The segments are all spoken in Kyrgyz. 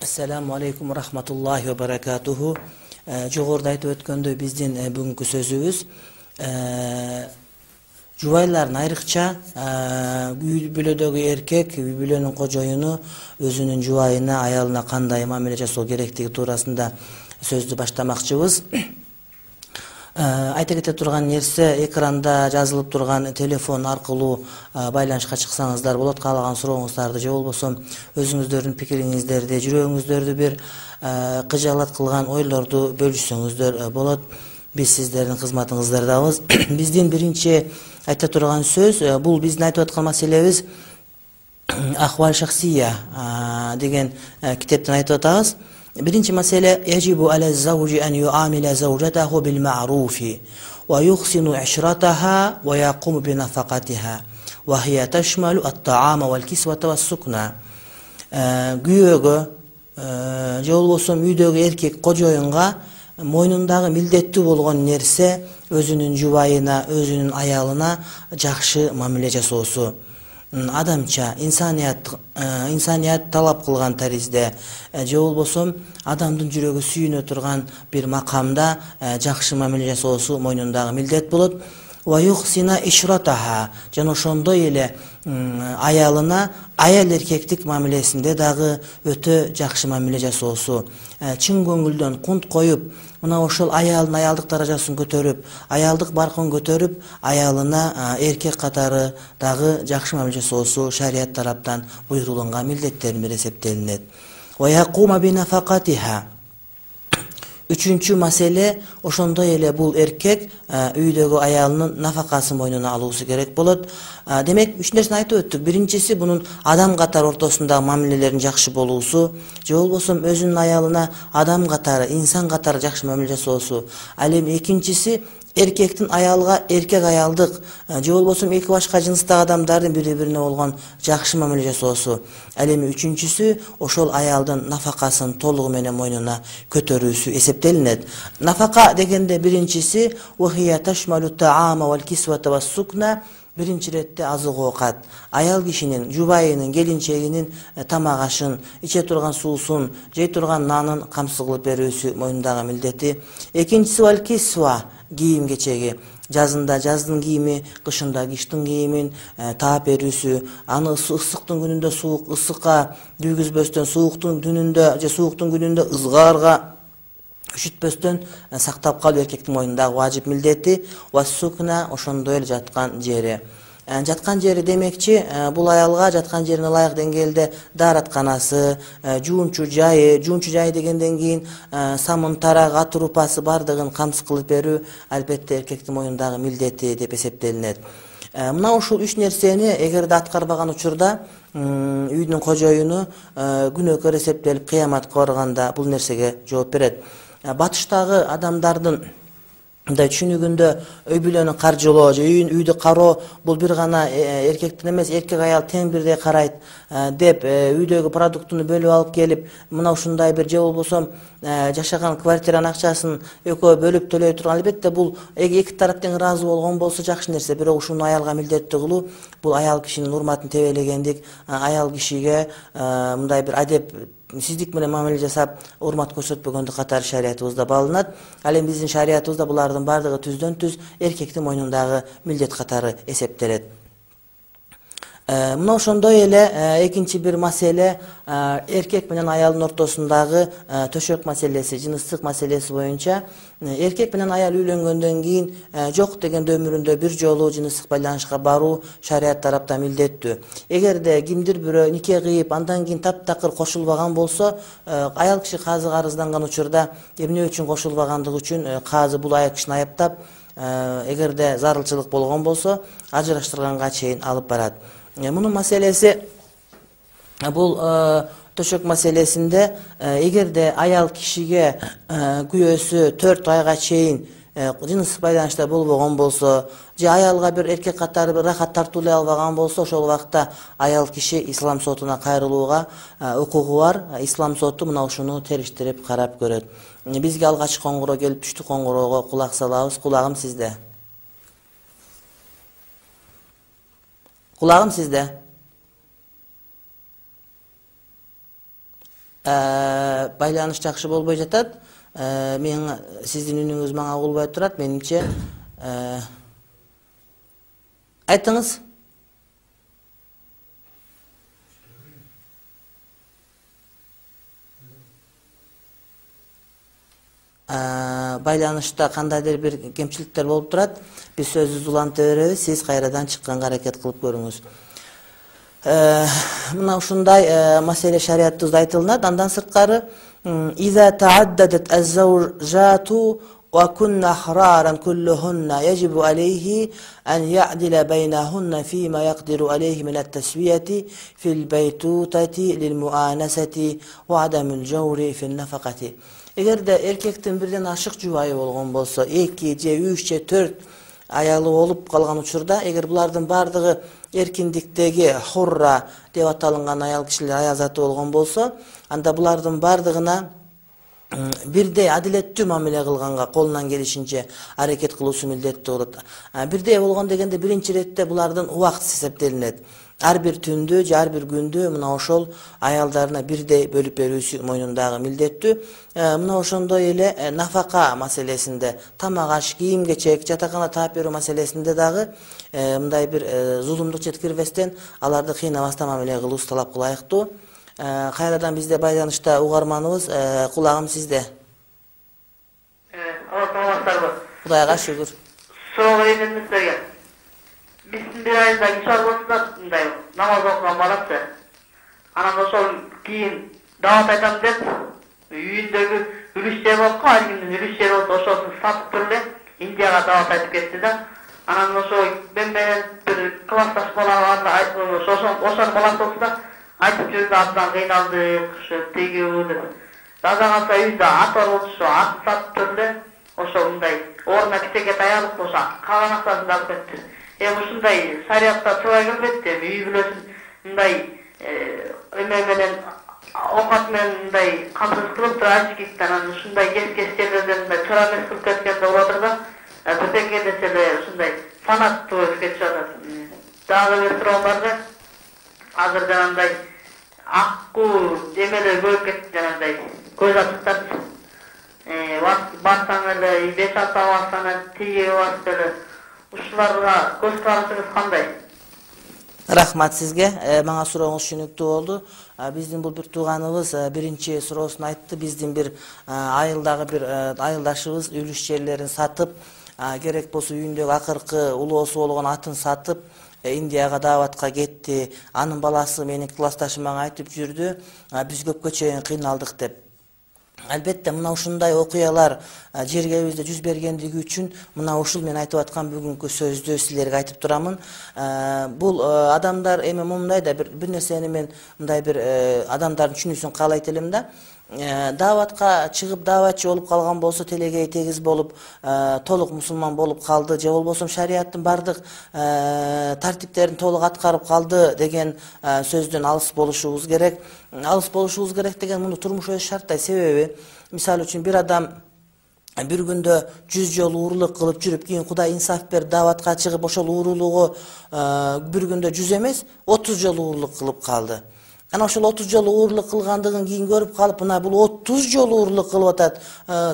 Assalamu alaikum rahmatullahi wa barakatuhu. Жогоруда айтып өткөндөй биздин бүгүнкү сөзүбүз жубайлардын айрыкча үй бүлөдөгү эркек, үй бүлөнүн кожоюну өзүнүн жубайына, аялына кандай мамиле жасоо керектиги туурасында сөздү баштамакчыбыз. Айта кете турган нерсе, экранда жазылып турган телефон аркылуу байланышка чыксаңыздар болот. Каалаган сурооңуздарды же болбосо өзүңүздөрдүн пикириңиздерди, жүрөгүңүздөрдү бир кыжаалат кылган ойлорду бөлүшсөңүздөр болот. Биз сиздердин кызматыңыздардабыз. Биздин биринчи айта турган сөз, бул биздин айтып аткан маселебиз Ахвал шахсия деген китептен айтып атабыз. Биринчи маселе яжибу аля зауджи ан юамила заужатаху бил ма'руфи ва юхсину ишратаха ва якуму би нафакатиха ва хия ташмалу ат-таама вал кисвата ва сукна. Күйөөгө же болбосо үйдөгү эркек кожоюнга мойнундагы милдеттүү болгон нерсе өзүнүн жубайына, өзүнүн аялына жакшы мамиле жасоосу. Адамча, инсаният талап кылган таризде же болбосо адамдын жүрөгү сүйүнө турган бир макамда жакшы мамиле жасоосу мойнундагы милдет болот. Ва юхсина ишратаха, жана ошондой эле аялына аял эркектик мамилесинде дагы өтө жакшы мамиле жасоосу. Чын көңүлдөн кунт коюп, мына ошол аялдын аялдык даражасын көтөрүп, аялдык баркын көтөрүп, аялына эркек катары дагы жакшы мамиле жасоосу шарият тараптан буйрулган милдеттердин бири эсептелинет. Ва якума би нафакатиха. Үчүнчү маселе, ошондой эле бул эркек үйдөгү аялынын нафакасын мойнуна алуусу керек болот. Демек, үч нерсени айтып өттүк. Биринчиси бунун адам катары ортосундагы мамилелерин жакшы болуусу, же болбосо өзүнүн аялына адам катары, инсан катары жакшы мамиле жасоосу. Ал эми экинчиси эркектин аялга эркек аялдык, же болбосо эки башка жыныстагы адамдардын бири-бирине болгон жакшы мамиле жасоосу. Ал эми үчүнчүсү ошол аялдын нафакасын толугу менен мойнуна көтөрүүсү эсептелинет. Нафака дегенде биринчиси вахия ташмалу таама вал кисвата ва сукна. Биринчи иретте азык оокат, аял кишинин, жубайынын, келинчегинин тамак ашын, иче турган суусун, жей турган нанын камсыз кылып берүүсү мойнундагы милдети. Экинчиси вал кисва, кийим кечеги. Жазында жаздын кийими, кышында кыштын кийимин таап берүүсү, аны ысыктын күнүндө суук ысыкка күйгүзбөстөн, сууктун түнүндө же сууктун күнүндө ызгаарга üşütpöstөн сактап калуу эркектин мойнундагы важип милдети. Ва сукна, ошондой эле жаткан жери. Жаткан жери демекчи, бул аялга жаткан жерине ылайык деңгээлде дааратканасы, жуунчу жайы дегенден кийин самын, тарак, ат урупасы бардыгын камсыз кылып берүү албетте эркектин мойнундагы милдети деп эсептелинет. Мына ушул үч нерсени эгерде аткарбаган учурда үйдүн кожоюну күнөөкөр эсептелип кыяматка барганда бул нерсеге жооп берет. Батыштагы адамдардын түшүнүгүндө үй бүлөнү каржылоо же үйдү кароо бул бир гана эркектин эмес, эркек аял тең бирдей карайт деп үйдөгү продуктуну бөлүп алып келип, мына ушундай бир же болбосо жашаган квартиранын акчасын экөө бөлүп төлөй турган, албетте бул эки тарап тең ыраазы болгон болсо жакшы нерсе. Бирок ушуну аялга милдеттүү кылуу бул аял кишинин урматын тебелегендик, аял кишиге мындай бир адеп сиздик менен мамиле жасап, урмат көрсөтпөгөндүк катары шариятыбызда балынат. Ал эми биздин шариятыбызда булардын бардыгы түздөн түз эркектин мойнундагы милдет катары эсептелет. Мына ошондой эле экинчи бир маселе эркек менен аялдын ортосундагы төшөк маселеси, жыныстык маселеси боюнча эркек менен аял үйлөнгөндөн кийин жок дегенде өмүрүндө бир жолу жыныстык байланышка баруу шарият тараптан милдеттүү. Эгерде кимдир бирөө нике кыйып, андан кийин таптакыр кошулбаган болсо, аял киши казыга арызданган учурда эмне үчүн кошулбагандыгы үчүн казы бул аял кишини аяптап, эгерде зарылчылык болгон болсо, ажыраштырганга чейин алып барат. Мунун маселеси бул төшөк маселесинде эгерде аял кишиге күйөөсү 4 айга чейин жыныстык байланышта болбогон болсо, же аялга бир эркек катары бир рахат тартуулай албаган болсо, ошол убакта аял киши ислам сотуна кайрылууга укугу бар. Ислам соту мына ушуну териштирип карап көрөт. Бизге алгач коңгуроо келип түштү, коңгуроого кулак салабыз. Кулагым сизде. Кулагым сизде. Байланыш жакшы болбой жатат. Мен сиздин үнүңүз мага угулбай турат. Менимче айтыңыз. Байланышта кандайдыр бир кемчиликтер болуп турат. Биз сөздү уланта беребиз, сиз кайрадан чыкканга аракет кылып көрүңүз. Мына ушундай маселе шариятыбызда айтылынат. Андан сырткары «Иза тааддадат аз-завжату ва кунна ахраран куллухунна яджибу алейхи ан яъдила байнахунна фима яqdiru алейхи мин ат-тасвияти фил байтутати лил муанасати ва адамил жаури фил нафакати». Эгерде эркектин бирден ашык жубайы болгон болсо, 2 же 3 же 4 аялы болуп калган учурда, эгер булардын бардыгы эркиндиктеги хурра деп аталынган аял кишилер аял заты болгон болсо, анда булардын бардыгына бирдей адилеттүү мамиле кылганга колунан келишинче аракет кылуусу милдеттүү болот. Бирдей болгон дегенде биринчи иретте булардын убактысы эсептелинет. Ар бир түндү же ар бир күндү мына ошол аялдарына бирдей бөлүп берүүсү мойнундагы милдеттүү. Мына ошондой эле нафака маселесинде, тамак аш, кийим кечек, жатакана таап берүү маселесинде дагы мындай бир зулумдук жеткирбестен аларды кыйнабастан мамиле кылуусу талап кылайыктуу. Кайрадан бизде байланышта угарманыбыз, кулагым сизде. Саламатсыздарбы? Кудайга шүгүр. Суроо берем сизге. Биздин бир айда ишар болсо мындай намаз окуган баласы. Анан ошол кийин дават айтам деп үйүндөгү үлүш жер болуп калды, кимдин үлүш жери болсо ошосун сатып туруп эле Индияга дават айтып кетти да. Анан ошо мен менен бир классташ бала бар, ошонун баласы болсо да айтып жүрдү, абдан кыйналдык, ушу тиги деп. Дада калса үйдө ат бар болчу, ошо атын сатып туруп эле ошо мындай ордуна кичеке таялып ошо калган акчасын да алып кетти. Ушундай шариатта туура келбейт деп, үй бүлөсүн мындай эме менен окат менен мындай камсыз кылып туруп ачкиктен анан ушундай кес жерлерден мындай туура эмес кылып кеткен болуп атыр да. Бирдеке десе эле ушундай фанат болуп кетип жатат. Дагы бир суроом бар да. Азыр жанагындай аккуу эмелер көбөйүп кетти, жанагындай көз ачыктар. Барсаң эле 5-6 бассаң эле тиги басып эле ушуларга көз карашыңыз кандай? Рахмат сизге. Мага сурооңуз түшүнүктүү болду. Биздин бул бир тууганыбыз биринчи суроосун айтты. Биздин бир айылдагы бир айылдашыбыз үлүш жерлерин сатып, керек болсо үйүндөгү акыркы улоосу болгон атын сатып Индияга даватка кетти. Анын баласы менин классташым мага айтып жүрдү, биз көпкө чейин кыйналдык деп. Албетте мына ушундай окуялар жергебизде жүз бергендиги үчүн мына ушул мен айтып аткан бүгүнкү сөздү силерге айтып турамын. Бул адамдар эми мындай да бир нерсени мен мындай бир адамдардын түшүнүүсүн каалайт элем да. Даватка чыгып даватчы болуп калган болсо, телегей тегиз болуп, толук мусулман болуп калды же болбосо шариаттын бардык тартиптерин толук аткарып калды деген сөздөн алыс болушубуз керек. Алыс болушубуз керек деген муну турмуш өзү шарттайт. Себеби, мисалы үчүн бир адам бир күндө 100 жолу уурулук кылып жүрүп, кийин Кудай инсаф берип даватка чыгып, ошол уурулугу бир күндө 100 эмес, 30 жолу уурулук кылып калды. Ana ошол 30 жолу уурлук кылгандыгын кийин көрүп калып, мына бул 30 жолу уурлук кылып атат,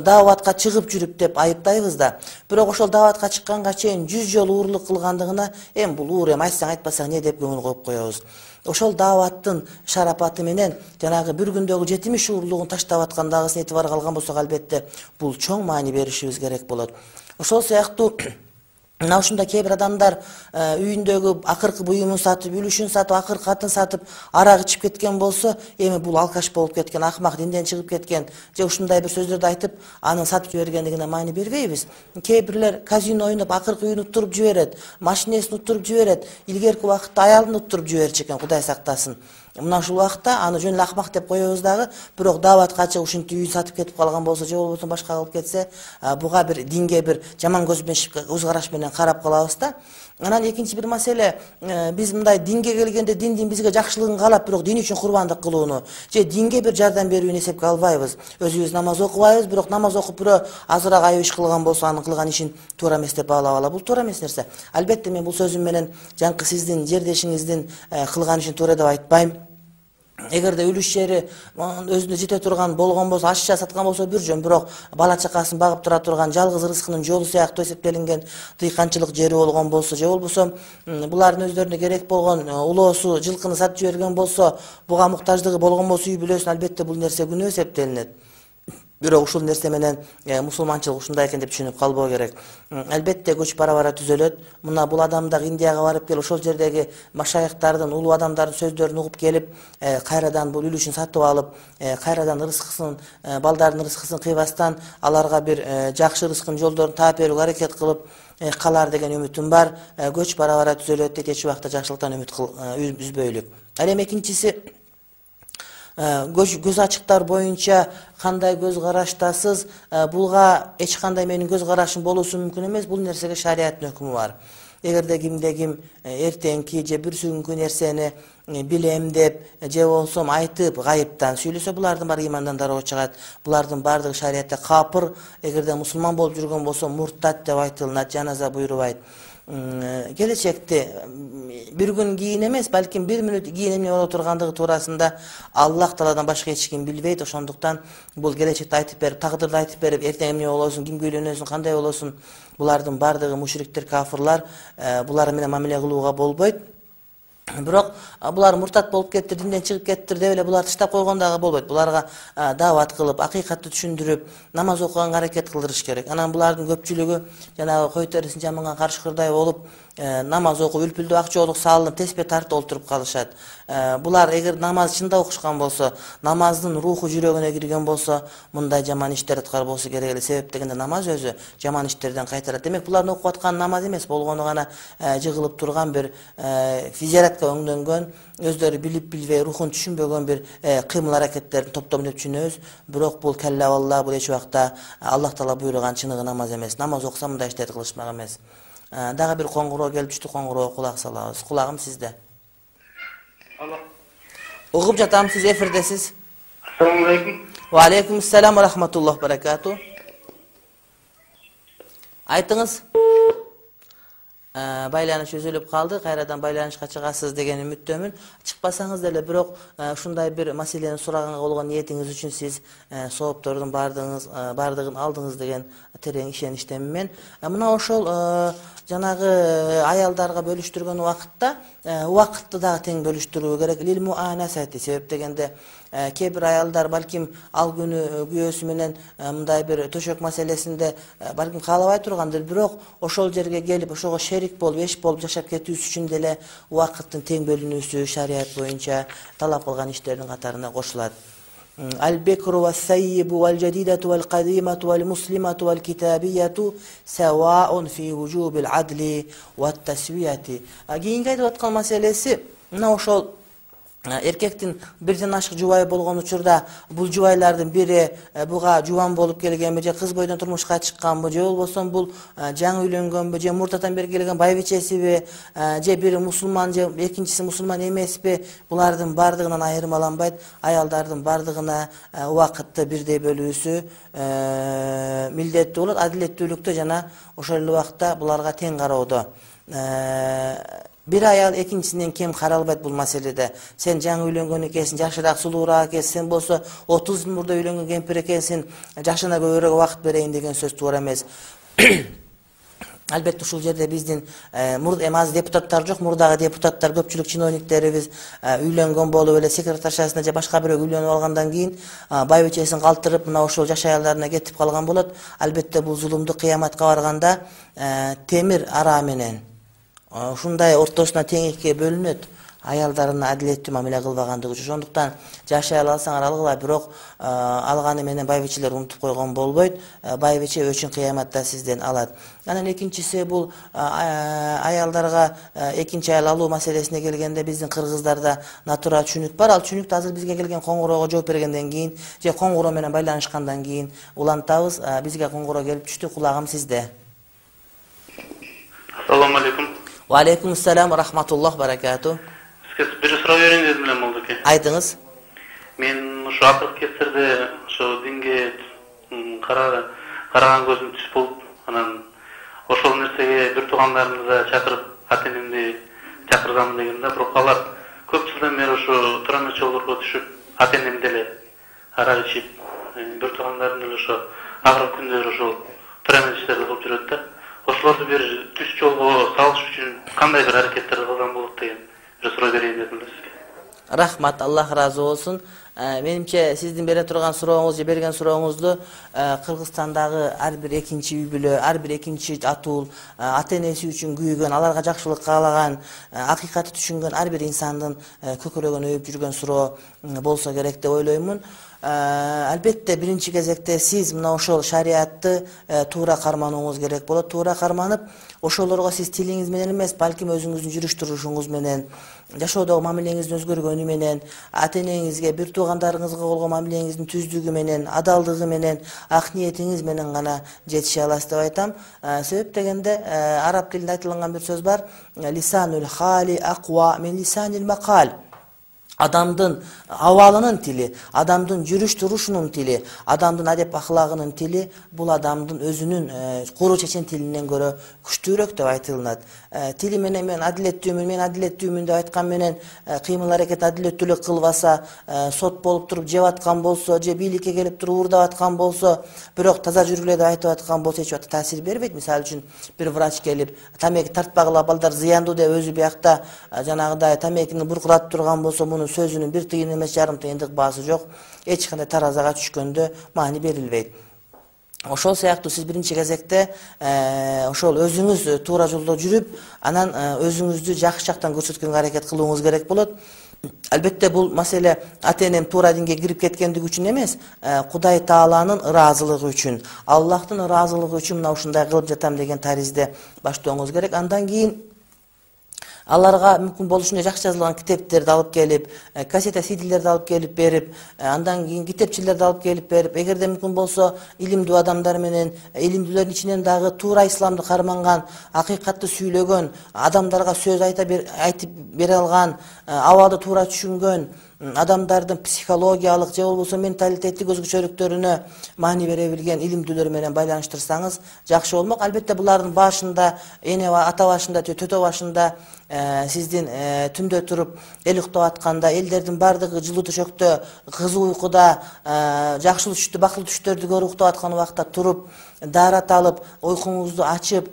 даватка чыгып жүрүп деп айыптайбыз да. Бирок ошол даватка чыкканга чейин 100 жолу уурлук кылгандыгына эми бул уур эми айтсаң айтпасаң не деп көңүл коюп коебуз. Ошол даваттын шарапаты менен жанагы бир күндөгү 70 уурлугун таштап аткандагысын этибарга алган болсок, албетте бул чоң маани беришибиз керек болот. Ошол сыяктуу мына ушундай кээ бир адамдар үйүндөгү акыркы буюмун сатып, үлүшүн сатып, акыркы атын сатып, арак ичип кеткен болсо, эми бул алкаш болуп кеткен, акмак, динден чыгып кеткен же ушундай бир сөздөрдү айтып, анын сатып жибергендигине маани бербейбиз. Кээ бирлер казино ойноп, акыркы үйүн уттуруп жиберет, машинесин уттуруп жиберет, илгерки убакытта аялын уттуруп жиберчү экен, Кудай сактасын. Мына ушул убакта аны жөн эле акмак деп коебуз дагы, бирок дааватка чыгып ушинтип үйүн сатып кетип калган болсо же болбосо башка кылып кетсе, буга бир динге бир жаман көз караш менен карап калабыз да. Анан экинчи бир маселе, биз мындай динге келгенде диндин бизге жакшылыгын каалап, бирок дин үчүн курбандык кылууну же динге бир жардам берүүнү эсепке албайбыз. Өзүбүз намаз окубайбыз, бирок намаз окуп бирөө азыраак айып иш кылган болсо, анын кылган ишин туура эмес деп баалап алабыз. Бул туура эмес нерсе. Албетте мен бул сөзүм менен жаңкы сиздин жердешиңиздин кылган ишин туура деп айтпайм. Эгерде үлүш жери өзүнө жете турган болгон болсо, ашча саткан болсо бир жөн, бирок бала чакасын багып тура турган жалгыз рызкынын жолу сыяктуу эсептелинген дыйканчылык жери болгон болсо, же болбосо булардын өздөрүнө керек болгон улоосу жылкыны сатып жиберген болсо, буга муктаждыгы болгон болсо үй бүлөсүн, албетте бул нерсе күнөө эсептелинет. Бирок ушул нерсе менен мусулманчылык ушундай экен деп түшүнүп калбоо керек. Албетте көч бара түзөлөт. Мына бул адам да Индияга барып келип, ошол жердеги машайыктардын, улуу адамдардын сөздөрүн угуп келип, кайрадан бул үлүшүн сатып алып, кайрадан рызкысын, балдардын рызкысын кыйбастан аларга бир жакшы рызкынын жолдорун таап берүүгө аракет кылып калар деген үмүтүм бар. Көч бара түзөлөт дейт, эч убакта жакшылыктан үмүт үзбөйлүк. Ал эми экинчиси, көз ачыктар боюнча кандай көз караштасыз, буга эч кандай менин көз карашым болуусу мүмкүн эмес. Бул нерсеге шариаттын өкүмү бар. Эгерде кимде ким эртеңки же бүрсүгүнкү нерсени билем деп же болсо айтып гайыптан сүйлөсө, булардын баары имандан дароо чыгат. Булардын баардыгы шариатта капыр. Эгерде мусулман болуп жүргөн болсо муртат деп айтылат, жаназа буйрубайт. Келечекте бир күн кийин эмес, балким бир мүнөт кийин эмне боло тургандыгы туурасында Аллах Тааладан башка эч ким билбейт. Ошондуктан бул келечекти айтып берип, тагдырды айтып берип, эртең эмне болосуң, кимге үйлөнөсүң, кандай болосуң, булардын баардыгы мушриктер, кафырлар, булар менен мамиле кылууга болбойт. Бирок булар муртат болуп кетти, динден чыгып кеттир деп эле буларды таштап койгон дагы болбойт. Буларга даават кылып, акыйкатты түшүндүрүп, намаз окуганга аракет кылдырыш керек. Анан булардын көпчүлүгү жанагы кой терисин жаманган карышкырдай болуп, намаз окуп, үлпүлдүү ак жоолук салынып, теспе тартып олтуруп калышат. Булар эгер намаз чында окушкан болсо, намаздын руху жүрөгүнө кирген болсо, мындай жаман иштер аткарбосу керек эле. Себеп дегенде намаз өзү жаман иштерден кайтарат. Демек, булардын окуп аткан намаз эмес, болгону гана жыгылып турган бир физиология өңдөнгөн, өздөрү билип билбей, рухун түшүнбөгөн бир кыймыл аракеттердин топтому деп түшүнөбүз. Бирок бул келла валла, бул эч убакта Аллах Таала буйруган чыныгы намаз эмес. Намаз окуса мындай иштерди кылышмак эмес. Дагы бир коңгуроо келип түштү, коңгуроого кулак салабыз. Кулагым сизде. Алло. Угуп жатам, сиз эфирдесиз. Ассаламу алейкум. Ва алейкум ассалам ва рахматуллахи ва баракату. Айтыңыз. Байланыш үзүлүп калды. Кайрадан байланышка чыгасыз деген үмүттөмүн. Чыкпасаңыз деле, бирок ушундай бир маселени сураганга болгон ниетиңиз үчүн сиз сооптордун баардыгын алдыңыз деген терең ишеничтемин мен. Мына ошол жанагы аялдарга бөлүштүргөн убакытты дагы тең бөлүштүрүү керек. Лил муанасати, себеп дегенде кээ бир аялдар балким ал күнү күйөөсү менен мындай бир төшөк маселесинде балким каалабай тургандыр, бирок ошол жерге келип, ошого шерик болуп, эш болуп жашап кетүүсү үчүн деле убакыттын тең бөлүнүүсү шарият боюнча талап кылган иштердин катарына кошулат. Al-bikru was-sayyibu wal-jadidatu wal-qadimatu wal-muslimatu wal-kitabiyatu sawa'un fi wujubil adli wat-taswiyati. Кийинки айтып аткан маселеси мына ошол эркектин бирден ашык жубайы болгон учурда бул жубайлардын бири буга жубан болуп келгенби, же кыз бойдон турмушка чыкканбы, же болбосо бул жаңы үйлөнгөнбү, же муртатан бери келген байбичесиби, же бири мусулман, же экинчиси мусулман эмеспи, булардын баардыгынан айырмаланбайт. Аялдардын баардыгына убакытты бирдей бөлүүсү милдеттүү болот. Адилеттүүлүктө жана ошол эле убакта буларга тең кароодо. Bir ayal экинчисинен кем каралбайт бул маселеде. Сен жаңы үйлөнгөн экенсиң, жашыраак, сулуураак экенсиң, сен болсо 30 жыл мурда үйлөнгөн кемпир экенсиң, жашына көбүрөөк убакыт берейин деген сөз туура эмес. Албетте ушул жерде биздин азыр депутаттар жок, мурдагы депутаттар, көпчүлүк чиновниктерибиз үйлөнгөн болуп эле секретаршасына же башка бирөө үйлөнүп алгандан кийин байбичесин калтырып, мына ошол жаш аялдарына кетип калган болот. Албетте бул зулумду кыяматка барганда темир ара менен ушундай ортосуна тең экиге бөлүнөт. аялдарына адилеттүү мамиле кылбагандыгы үчүн. Ошондуктан жашай алсаңар алгыла, бирок алганы менен байбичелер унутуп койгон болбойт. Байбиче өчүн кыяматта сизден алат. Анан экинчиси бул аялдарга экинчи аял алуу маселесине келгенде биздин кыргыздарда натура чүнүк бар. Ал чүнүктү азыр бизге келген коңгуроого жооп бергенден кийин же коңгуроо менен байланышкандан кийин улантабыз. Бизге коңгуроо келип түштү, кулагым сизде. Ассаламу алейкум. Ва алейкум ассалам ва рахматуллах баракату. Сизге бир суроо берейин дедим эле молдоке. Айтыңыз. Мен ушу акыркы кездерде ошо динге караган көзүм түш болуп, анан ошол нерсеге бир туугандарымды да чакырып, ата-энемди чакыргам деген да, бирок алар көп жылдан бери ошо туран жолдорго түшүп, ата-энем деле арак ичип, бир туугандарым деле ошо агырып күндөр ошол туран иштерди кылып жүрөт да. Ошолорду бир түз жолго салыш үчүн кандай бир аракеттер кылган болот деген бир суроо берейин дедим да сизге. Рахмат, Аллах разы болсун. Менимче сиздин бере турган сурооңуз же берген сурооңузду Кыргызстандагы ар бир экинчи үй бүлө, ар бир экинчи атуул ата-энеси үчүн күйгөн, аларга жакшылык каалаган, акыйкатты түшүнгөн ар бир инсандын көкөрөгүн өйүп жүргөн суроо болсо керек деп ойлоймун. Албетте биринчи кезекте сиз мына ошол шариатты туура карманууңуз керек болот. Туура карманып, ошолорго сиз тилиңиз менен эмес, балким өзүңүздүн жүрүш турушуңуз менен, жашоодогу мамилеңиздин өзгөргөнү менен, ата-энеңизге, бир туугандарыңызга болгон мамилеңиздин түздүгү менен, адалдыгы менен, ак ниетиңиз менен гана жетише аласыз деп айтам. Себеп дегенде араб тилинде айтылган бир сөз бар: лисанул хали аква мин лисанил макал. Адамдын абалынын тили, адамдын жүрүш турушунун тили, адамдын адеп ахлагынын тили бул адамдын өзүнүн куру чечен тилинен көрө күчтүүрөөк деп айтылат. Тили менен мен адилеттүүмүн деп айткан менен кыймыл аракет адилеттүүлүк кылбаса, сот болуп туруп жеп аткан болсо, же бийликке келип туруп уурдап аткан болсо, бирок таза жүргүлө деп айтып аткан болсо эч убакта таасир бербейт. Мисалы үчүн бир врач келип тамеки тартпагыла, балдар зыяндуу деп өзү биякта жанагыдай тамекини буркуратып турган болсо, муну сөзүнүн бир тыйын эмес жарым тыйындык баасы жок, эч кандай таразага түшкөндө маани берилбейт. Ошол сыяктуу сиз биринчи кезекте ошол өзүңүз туура жолдо жүрүп, анан өзүңүздү жакшы жактан көрсөткөнгө аракет кылууңуз керек болот. Албетте бул маселе ата-энем туура динге кирип кеткендиги үчүн эмес, Кудай Тааланын ыраазылыгы үчүн, Аллахтын ыраазылыгы үчүн мына ушундай кылып жатам деген таризде баштооңуз керек. Андан кийин аларга мүмкүн болушунча жакшы жазылган китептерди алып келип, кассета CD-лерди алып келип берип, андан кийин китепчилерди алып келип берип, эгерде мүмкүн болсо илимдүү адамдар менен, илимдүүлөрдүн ичинен дагы туура исламды карманган, акыйкатты сүйлөгөн, адамдарга сөз айтып бере алган, абалды туура түшүнгөн адамдардын психологиялык же болбосо менталитеттик өзгөчөлүктөрүнө маани бере билген илимдүүлөр менен байланыштырсаңыз жакшы болмок. Албетте булардын башында, эне ата башында, төтө башында сиздин түндө туруп эл уктап атканда, элдердин бардыгы жылуу төшөктө, кызуу уйкуда, жакшы түштү, бакылуу түштөрдү көрүп уктап аткан убакта туруп, даарат алып, уйкуңузду ачып,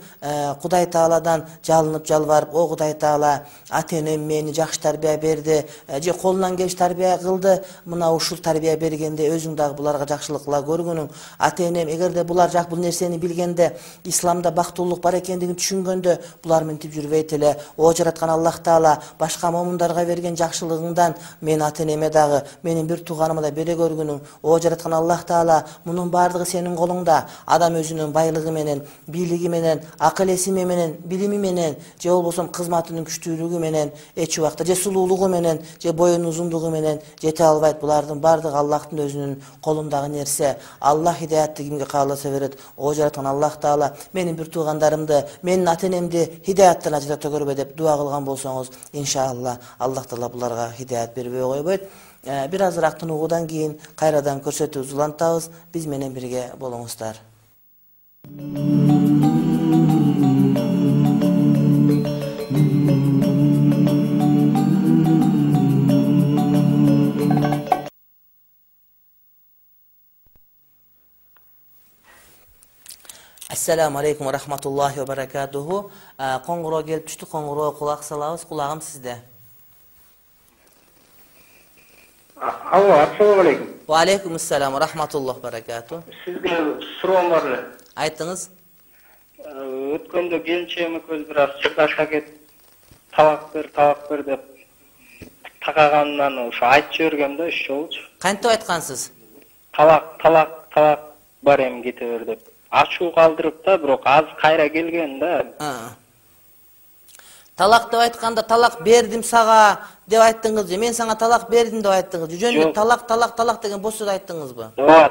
Кудай Тааладан жалынып жалбарып, о Кудай Таала, ата-энем мени жакшы тарбия берди, же колунан келиш тарбия кылды, мына ушул тарбия бергенде өзүң дагы буларга жакшылык кыла көргүнүң. Ата-энем эгерде булар бул нерсени билгенде, исламда бактылуулук бар экендигин түшүнгөндө, булар мынтип жүрбөйт эле. О жараткан Аллах Таала, башка момундарга берген жакшылыгыңдан мен ата-энеме дагы, менин бир тууганыма да бере көргүнүң. О жараткан Аллах Таала, мунун бардыгы сенин колуңда. Адам өзүнүн байлыгы менен, бийлиги менен, акыл эсими менен, билими менен, же болбосо кызматынын күчтүүлүгү менен, эч убакта же сулуулугу менен, же боюнун узундугу менен жете албайт. Булардын бардыгы Аллахтын өзүнүн колундагы нерсе. Аллах хидаятты кимге кааласа берет. О жараткан Аллах Таала, менин бир туугандарымды, менин ата-энемди хидаяттан ажырата көрбө деп дуа кылган болсоңуз, иншалла Аллах Таала буларга хидаят бербей койбойт. Бир азыраак тынуудан кийин кайрадан көрсөтүүбүздү улантабыз. Биз менен бирге болуңуздар. Ассаламу алейкум ва рахматуллахи ва баракатуху. Коңгуроо келип түштү, коңгуроо кулак салабыз. Кулагым сизде. Алло, ассаламу алейкум. Ва алейкум ассалам ва рахматуллахи ва баракатуху. Сизге суроом бар эле. Айтыңыз. Өткөндө келинчегим экөөбүз бир аз чырдашка кетип, табак бер деп такагандан ошо айтып жибергем да ошолчу. Кантип айткансыз? Талак бар эми кете бер деп. Ачуу калтырып да, бирок аз кайра келген да. Талак деп айтканда талак бердим сага деп айттыңыз же? Мен сага талак бердим деп айттыңыз же? Жөн эле талак деген бос сөз айттыңызбы? Ооба,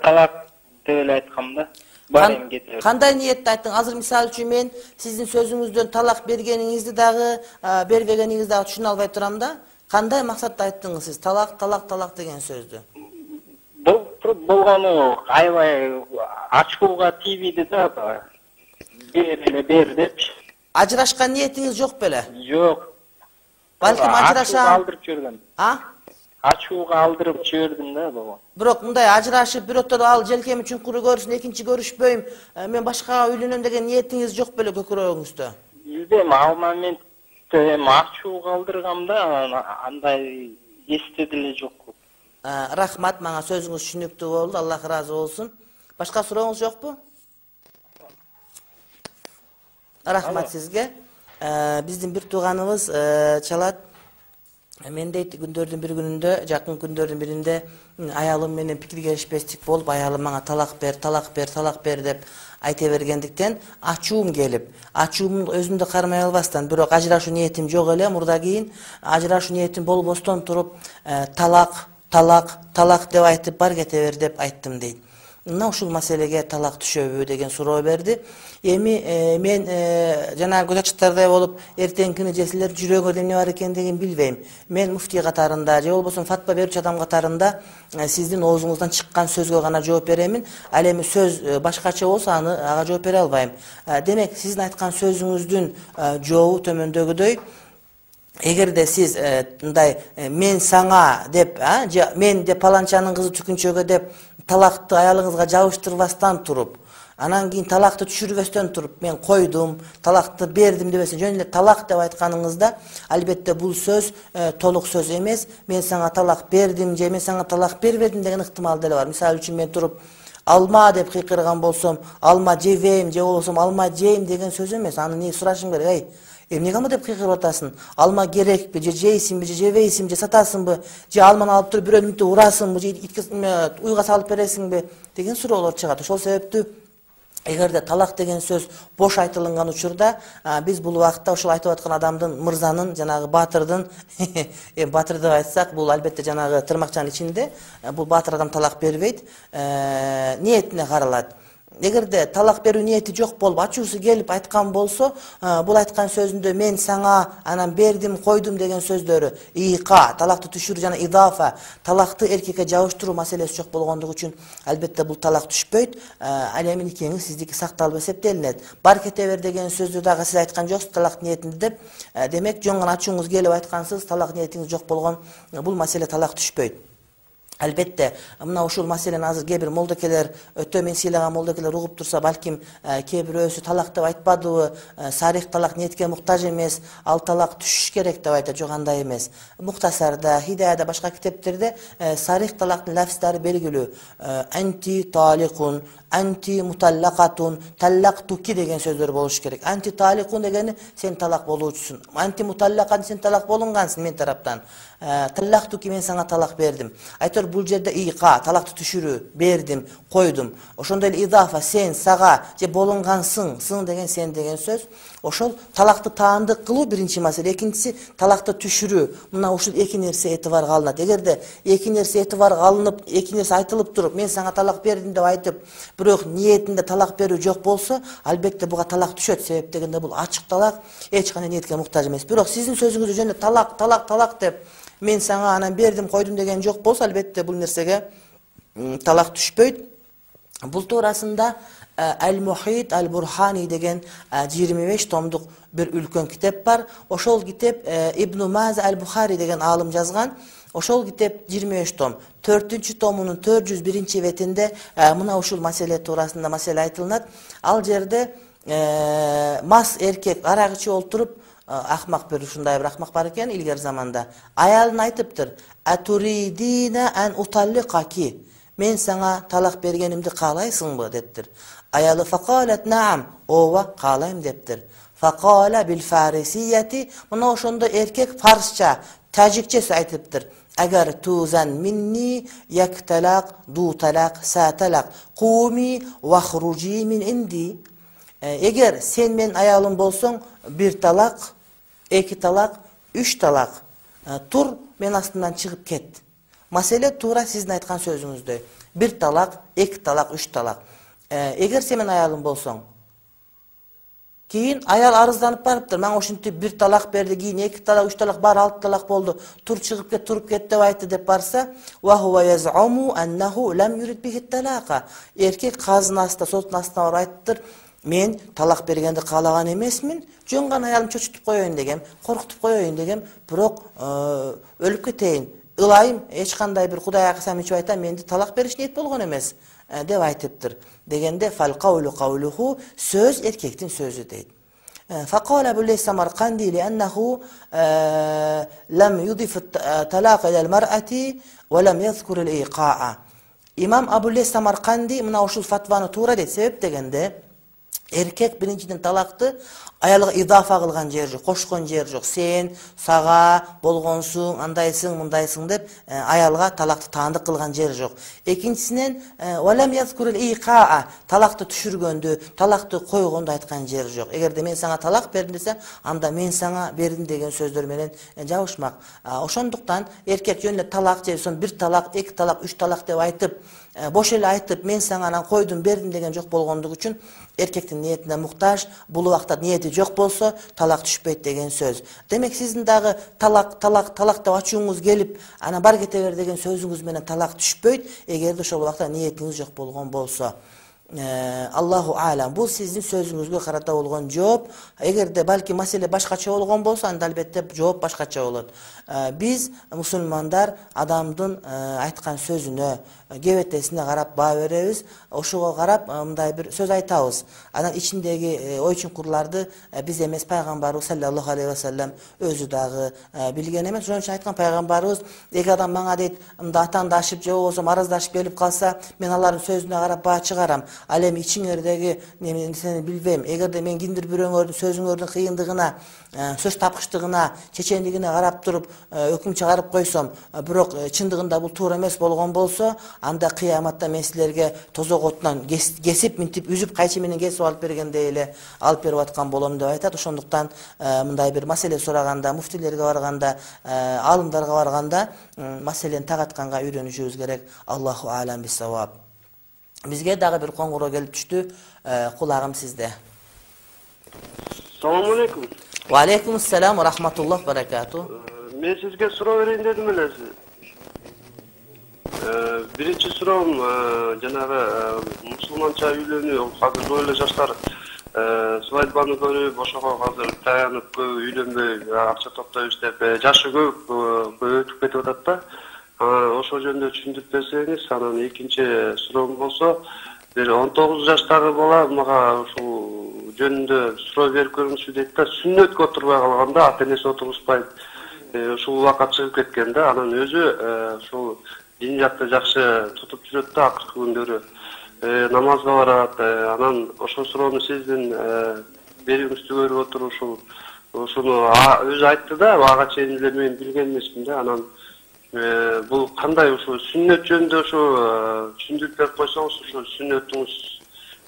талак деп эле айткам да. Бар эми кете бер. Кандай ниетте айттың? Азыр мисалы үчүн мен сиздин сөзүңүздөн талак бергениңизди дагы, бербегениңизди дагы түшүнө албай турам да. Кандай максатта айттыңыз сиз талак деген сөздү? Болгону аябай ачууга тийбейди да. Бер депчи. Ажырашкан ниетиңиз жок беле? Жок. Балким ажырашам. Алдырып жибердим. Ачууга алдырып жибердим да бaba. Бирок мындай ажырашып, бирөөтөр ал желкеми чуңкуру көрсүн, экинчи көрүшпөйм, мен башкага үйлөнөм деген ниетиңиз жок беле көкүрөгүңүздө? Билбейм, ал моментте эми ачууга алдыргам да, андай эсте деле жок. Рахмат, мага сөзүңүз түшүнүктүү болду. Аллах ыраазы болсун. Башка сурооңуз жокпу? Рахмат сизге. Биздин бир тууганыбыз чалат. Мен дейт күндөрдүн бир күнүндө, жакын күндөрдүн биринде аялым менен пикир келишпестик болуп, аялым мага талак бер деп айта бергендиктен ачуум келип, ачуумду өзүмдү кармай албастан, бирок ажырашуу ниетим жок эле, мурда кийин ажырашуу ниетим болбостон туруп, талак деп айтып бар кете бер деп айттым дейт. Мына ушул маселеге талак түшөбү деген суроо берди. Эми мен жана көз ачыктардай болуп, эртеңки күнү силер жүрөгүңөрдө эмне бар экендигин билбейм. Мен муфтий катарында же болбосо фатва берүүчү адам катарында сиздин оозуңуздан чыккан сөзгө гана жооп беремин. Ал эми сөз башкача болсо ага жооп бере албайм. Демек, сиздин айткан сөзүңүздүн жообу төмөндөгүдөй. Эгерде сиз мындай мен саңа деп, же мен деп паланчанын кызы түкүнчөгө деп талакты аялыңызга жабыштырбастан туруп, анан кийин талакты түшүрбөстөн туруп, мен койдум, талакты бердим дебесин, жөн эле талак деп айтканыңызда, албетте бул сөз толук сөз эмес. Мен сага талак бердим же мен сага талак бербедим деген ыктымал деле бар. Мисалы үчүн мен туруп алма деп кыйкырган болсом, алма жебейм же болбосо алма жейм деген сөз эмес. Аны эмне сурашым керек? Эмнеге ама деп кыйкырып атасың? Алма керекпи, же жейсиңби, же жебейсиңби, же сатасыңбы, же алманы алып туруп бирөөнү мынтип урасыңбы, же уйга салып бересиңби деген суроолор чыгат. Ошол себептүү эгерде талак деген сөз бош айтылган учурда, биз бул убакытта ошол айтып аткан адамдын, мырзанын, жанагы баатырдын, баатыр деп айтсак, бул албетте жанагы тырмакчанын ичинде, бул баатыр адам талак бербейт, ниетине каралат. Эгерде талак берүү ниети жок болуп, ачуусу келип айткан болсо, бул айткан сөзүндө мен сага анан бердим, койдум деген сөздөрү ийка, талакты түшүрүү жана идафа, талакты эркекке жабыштыруу маселеси жок болгондугу үчүн албетте бул талак түшпөйт. Ал эми никеңиз сиздики сакталып эсептелинет. Бар кете бер деген сөздү дагы сиз айткан жоксуз талак ниетинде деп. Демек, жөн гана ачууңуз келип айткансыз, талак ниетиңиз жок болгон, бул маселе талак түшпөйт. Албетте, мына ушул маселени азыр кээ бир молдокелер, өтө мен сыйлаган молдокелер угуп турса, балким кээ бирөөсү талак деп айтпадыбы, сарих талак ниетке муктаж эмес, ал талак түшүш керек деп айтат. Жок, андай эмес. Мухтасарда, Хидаяда, башка китептерде сарих талактын лафздары белгилүү. Анти таликун, анти муталлакатун, таллактуки деген сөздөр болуш керек. Анти таликун дегени сен талак болуучусуң. Анти муталлакан, сен талак болунгансың мен тараптан. Таллактуки, мен сага талак бердим. Айтор бул жерде ийка, талакты түшүрүү, бердим, койдум. Ошондой эле идафа, сен сага же болунгансың, сын деген сен деген сөз. Ошол талакты таандык кылуу биринчи маселе, экинчиси талакты түшүрүү. Мына ушул эки нерсе этибарга алынат. Эгерде эки нерсе этибарга алынып, эки нерсе айтылып туруп, мен сага талак бердим деп айтып, бирок ниетинде талак берүү жок болсо, албетте буга талак түшөт. Себеп дегенде бул ачык талак, эч кандай ниетке муктаж эмес. Бирок сиздин сөзүңүздө жөн талак деп мен сага анан бердим, койдум деген жок болсо, албетте бул нерсеге талак түшпөйт. Бул туурасында Ал-Мухит Ал-Бурхани деген 25 томдук бир үлкөн китеп бар. Ошол китеп Ибн Маза Ал-Бухари деген алым жазган. Ошол китеп 25 том. 4-чү томунун 401-чи бетинде мына ушул маселе туурасында маселе айтылат. Ал жерде мас эркек арак ичип олтуруп, ахмак бир ушундай бир ахмак бар экен илгер заманда. Аялына айтыптыр: "Атуридина ан уталликаки". Мен сага талак бергенимди каалайсыңбы дептир. Аялы факалат наам, ооба каалайм дептир. Факала бил фарисияти, мына ошондо эркек фарсча Тажикчеси айтыптыр. Agar tuzan minni yak talaq, du talaq, sa talaq, qumi wa khruji min indi. Eğer sen men ayalım bolsoň, bir talaq, iki talaq, üç talaq, tur men astından çıkıp ket. Masele tuura sizin aytkan sözüňüzde. Bir talaq, iki talaq, üç talaq. Eğer sen men ayalım bolsoň, keyin ayal arızdanıp barıptır. Men oşuntip bir talak berdi, keyin iki talak, üç talak bar, altı talak boldu. Tur çıkıp ket, turup ket dep aytты dep barsa, wa huwa yaz'umu annahu lam yurid bihi talaqa. Erkek kazın asında, sotun asında var ayttıdır. Men talak bergendi kalagan emesmin, jön gana ayalım çoçutup koyoyun degem, korkutup koyoyun degem, birok ölüp keteyin. Ilayım, hiç kanday bir Hudaýa kasam içip aytam, mendi talak beriş niyet bolgon emes dep aytıptır. Degende fal qawlu qawluhu, söz erkektin sözü deydi. Faqala Ebu Leys Samarkandi li'annahu lam yudif talaq ilal mar'ati ve lam yazkur al-iqa'a. İmam Ebu Leys Samarkandi mına oşul fatvanı tuura deydi. Sebep degende erkek birinciden talaktı ayalga idafa kılgan yer jok, koşkon yer jok. Sen saga bolgonsun, andaysın, mundaysın dep ayalga talaktı taandık kılgan yer jok. Ekinçisinden walam yazkurul iqa'a, talaktı düşürgöndü, talaktı koygondu aytkan yer jok. Egerde men sana talak berdim desem, anda men sana berdim degen sözdör menen jabышmak. Oşonduktan erkek yönle talak jeyson, bir talak, iki talak, üç talak dep aytıp, boş ele aytıp men sana koydum berdim degen jok bolgondugu üçün erkektin niyetine muhtaç, bulu wagtda niyeti jok bolsa talak düşpeyt degen söz. Demek sizin dagı talak dep açууңуз gelip ana bar kete ber degen sözüңüz menen talak düşpeyt, egerde ошол wagtda niyetiniz jok bolgon bolsa. Allahu alam. Bu sizin sözüňizge karata bolgon жооп. Egerde balki masele başkaça bolgon bolsa, anda albatta жооп başkaça bolat. Biz musulmandar adamdın aytkan sözüne, gebetesine karap baa berебиz. Oşuga karap mындай bir söz aytabız. Anan içindegi oy çukurlardy biz emes Peygamberimiz sallallahu aleyhi ve sellem özü dagı bilgen emes. Şonuň üçin aytkan Peygamberimiz, eki adam maňa deyt, mында atandaşyp je bolsa marazdaşyp gelip kalsa, men alaryň sözüne karap baa çıgaram. Al эми içiňerdegi nemeni seni bilbem. Egerde men kindir biröňörдүn sözüňörдүn kıyındygyna, söz tapkıçtygına, çeçenligine karap turup öküm çıgarıp koysam, birok çındygynda bul toora emes bolgon bolsa, anda kıyamatda men sizlerge tozok otунан kesip mintip üzüp kayçı menen kesip alıp bergende ele alıp berip atkan bolom dep aytat. Ошондуктан мындай bir masele soraganda, muftilerge barganda, alımlarga barganda maselени так атканга үйрөнүшүбүz керек. Allahu alam bis-savab. Bizge dagı bir qoňguro gelip düştü. Kulağım sizde. Assalamu alaikum. Wa alaikumussalam wa rahmatullah wa barakatuh. Men sizge suroo bereyin dedim ele. Birinci suroom janagı musulmança üylönүү, hazır böyle жаштар свадьбаны көрүп, ошого азыр таянып üylөнбөй, акча топтоп иштеп, жашы көп өтүп кетип атат да. Ошо жөнүндө түшүндүрүп берсеңиz, анан экинчи суроом болсо, бир 19 жаштагы бала мага ушул жөнүндө суроо берип көрүңүзчү дейт да, сүннөткө отурбай калганда ата-энеси отургузбайт. Ушул убакыт чыгып кеткен да, анан өзү ушул дин жакты жакшы тутуп жүрөт да, акыркы күндөрү намазга барат. Анан ошол суроону сиздин берүүңүздү көрүп отуруп ушуну өзү айтты да, ага чейин эле мен билген эмесмин да. Анан бул кандай ушул сүннөт жөнүндө түшүндүрүп берип койсоңуз, ушул сүннөтүңүз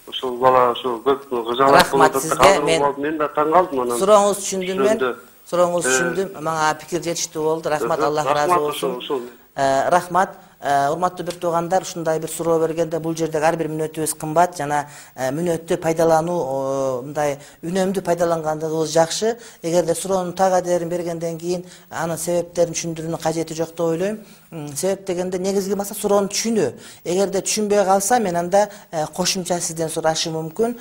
ушул бала ушул көп кызалат болуп атат. Мен да таң калдым анан. Сурооңуз түшүндүм мен. Сурооңуз түшүндүм. Мага пикир жетиштүү болду. Рахмат, Аллах разы болсун. Рахмат. Урматтуу бир туугандар, ушундай бир суроо бергенде бул жерде ар бир мүнөтүбүз кымбат, жана мүнөттү пайдалануу, мындай үнөмдүү пайдалангандыгыбыз жакшы. Эгерде суроонун так адерин бергенден кийин анын себептерин түшүндүрүүнүн кажети жок деп ойлойм. Себеп дегенде негизги максат суроону түшүнүү. Эгерде түшүнбөй калса, мен анда кошумча сизден сурашым мүмкүн.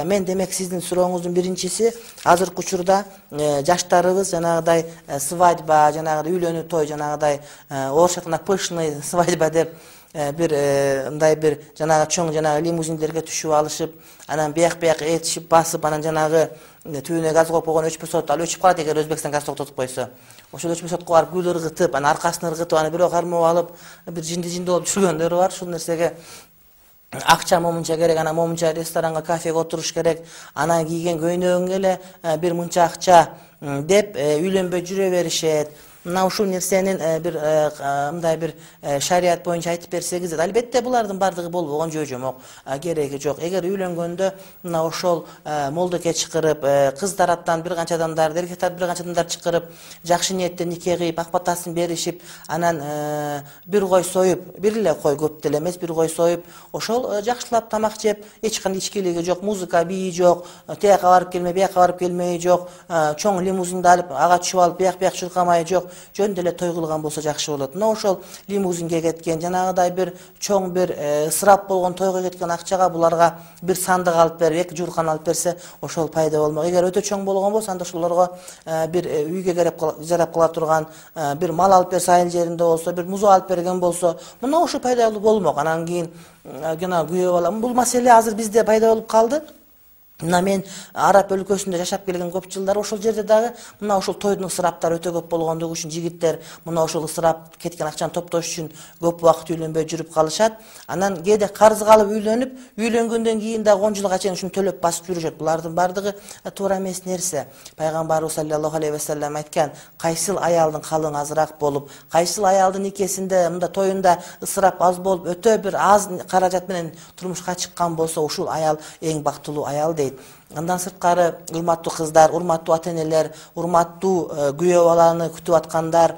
Мен демек сиздин сурооңуздун биринчиси, азыркы учурда жаштарыбыз жанагыдай свадьба, жанагыдай үйлөнүү той, жанагыдай орусча айтканда пышный свадьба деп bir мындай bir жанагы чоң жанагы лимузиндерге түшүп алышып, анан бияк этишип басып, анан жанагы түбүнө газ коюп койгон өчпөй сот, ал өчүп калат эгер Өзбекстан газ токтотуп койсо. Ошол өчпөй сотко барып гүл ыргытып, анан аркасын ыргытып, аны бирөө кармап алып, бир жинди болуп жүргөндөр бар. Ушул нерсеге акча момунча керек, анан момунча ресторанга, кафеге отуруш керек, анан кийген көйнөгүңө эле бир мынча акча деп үйлөнбөй жүрө беришет. мына ушул нерсенин бир мындай бир шарият боюнча айтып берсеңиз, албетте булардын бардыгы болбогон жөө-жомок, кереги жок. Эгер үйлөнгөндө мына ошол молдоке чакырып, кыз тараптан бир канча адамдар, эркек тараптан бир канча адамдар чакырып, жакшы ниеттен нике кыйып, ак батасын беришип, анан бир кой союп, бир эле кой, көп деле эмес, бир кой союп, ошол жакшылап тамак жеп, эч кандай ичкилиги жок, музыка, бии жок, тияка барып келме, бияка барып келмеи жок, чоң лимузинди алып, ага түшүп алып, бияк чуркамай жок, жөн деле той кылган болсо жакшы болот. Мына ошол лимузинге кеткен, жанагыдай бир чоң бир ысырап болгон тойго кеткен акчага буларга бир сандык алып берип, 2 журкан алып берсе, ошол пайда болмок. Эгер өтө чоң болгон болсо, анда ошолорго бир үйгө жарап кала турган бир мал алып берсе, айыл жеринде болсо, бир музу алып берген болсо, мына ошо пайдалуу болмок. Анан кийин жана күйөө бала, бул маселе азыр бизде пайда болуп калды. Мына мен Араб өлкөсүндө жашап келген көп жылдар ошол жерде дагы мына ошол тойдун ысыраптары өтө көп болгондугу үчүн жигиттер мына ошол ысырап кеткен акчаны топтош үчүн көп убакыт үйлөнбөй жүрүп калышат. Анан кээде карызга алып үйлөнүп, үйлөнгөндөн кийин дагы 10 жылга чейин ушуну төлөп басып жүрүшөт. Булардын бардыгы туура эмес нерсе. Пайгамбарыбыз саллаллаху алейхи ва саллям айткан, кайсыл аялдын калың азыраак болуп, кайсыл аялдын никесинде, мында тоюнда ысырап аз болуп, өтө бир аз каражат менен турмушка чыккан болсо, ушул аял эң бактылуу аял дейт. Андан сырткары, урматтуу кыздар, урматтуу ата-энелер, урматтуу күйөө баланы күтүп аткандар,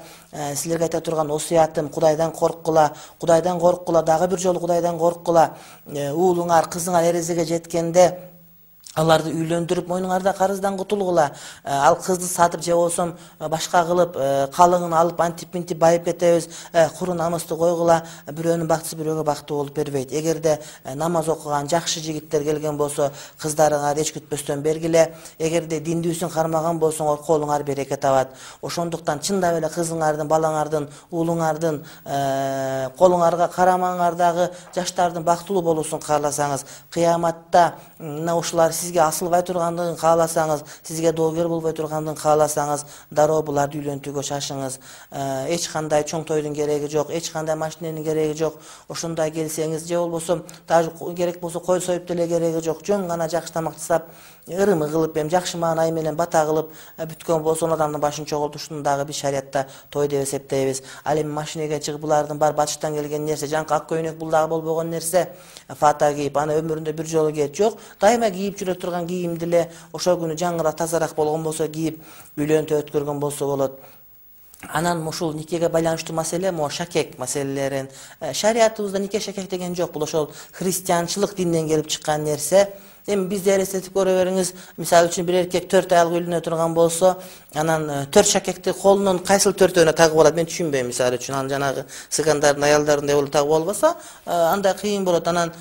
силерге айта турган осуятым, Кудайдан корккула, дагы бир жолу Кудайдан корккула. Уулуңар, кызыңар эрезеге жеткенде аларды үйлөндүрүп, мойнуңарда карыздан кутулгула. Ал кызды сатып же болсом башка кылып, калыңын алып антип-минтип байып кетебиз, куру намысты койгула. Бирөөнүн бактысы бирөөгө бактуу болуп бербейт. Эгерде намаз окуган жакшы жигиттер келген болсо, кыздарыңар эч күтпөстөн бергиле. Эгерде диндүүсүн кармаган болсоңор, колуңар береке табат. Ошондуктан чындап эле кызыңардын, балаңардын, уулуңардын колуңарга карамаңар дагы жаштардын бактылуу болуусун кааласаңыз, кыяматта мына ушулар сизге асылбай тургандыгын кааласаңыз, сизге доогер болбой тургандыгын кааласаңыз, дароо буларды үйлөнтүүгө шашыңыз. Эч кандай чоң тойдун кереги жок, эч кандай машиненин кереги жок. Ошондой келсеңиз, же болбосо даже керек болсо кой союп деле кереги жок. Жөн гана жакшы тамак жасап, ырымы кылып, жакшы маанай менен бата кылып бүткөн болсо, адамдын башын чогултушун дагы биз шариятта той деп эсептейбиз. Ал эми машинеге чыгып, булардын бар батыштан келген нерсе, жаңкы ак көйнөк бул дагы болбогон нерсе. Фата кийип, аны өмүрүндө бир жолу кийет жок. Дайыма кийип жүрө турган кийимди эле ошол күнү жаңыраак, тазараак болгон болсо кийип үйлөнтүп өткөргөн болсо болот. Анан ушул никеге байланыштуу маселе, могу шакек маселелерин шариятыбызда нике шакек деген жок. Бул ошол христианчылык динден келип чыккан нерсе. Эми бизде элестетип көрө бериңиз, мисалы үчүн бир эркек 4 аялга үйлөнө турган болсо, анан 4 шакекти колунун кайсыл 4-өөнө тагып алат, мен түшүнбөйм. Мисалы үчүн анан жанагы сыгандардын аялдарындай болуп тагып албаса, андай кыйын болот. Анан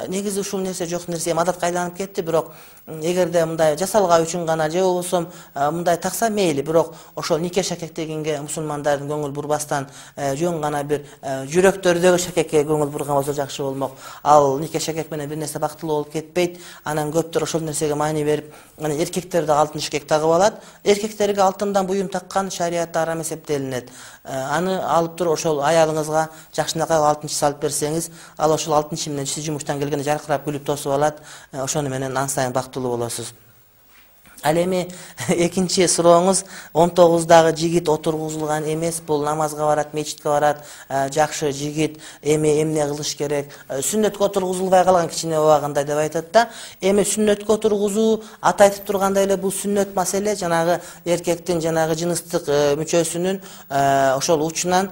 негизи ушул нерсе жок нерсе, адатка айланып кетти. Бирок эгерде мындай жасалгаа үчүн гана же болбосо мындай такса мейли, бирок ошол нике шакек дегенге мусулмандардын көңүл бурбастан жөн гана бир жүрөктөрдөгү шакекке көңүл бурган болсо жакшы болмок. Ал нике шакек менен бир нерсе бактылуу болуп кетпейт. Анан көптөр ошол нерсеге маани берип, анан эркектер да алтын шакек тагып алат. Эркектерге алтындан буюм таккан шариятта арам эсептелинет. Аны алып туруп ошол аялыңызга жакшынакай алтын салып берсеңиз, ал ошол алтын менен сиз жумуштан келгенде жаркырап күлүп тосуп алат. Ошону менен ан сайын бактылуу болосуз. Ал эми экинчи сурооңуз, 19дагы жигит отургузулган эмес, бул намазга барат, мечитке барат, жакшы жигит, эми эмне кылыш керек? Сүннөткө отургузулбай калган кичине убагында деп айтат да. Эми сүннөткө отургузуу, ата айтып тургандай эле, бул сүннөт маселе жанагы эркектин жанагы жыныстык мүчөсүнүн ошол учунан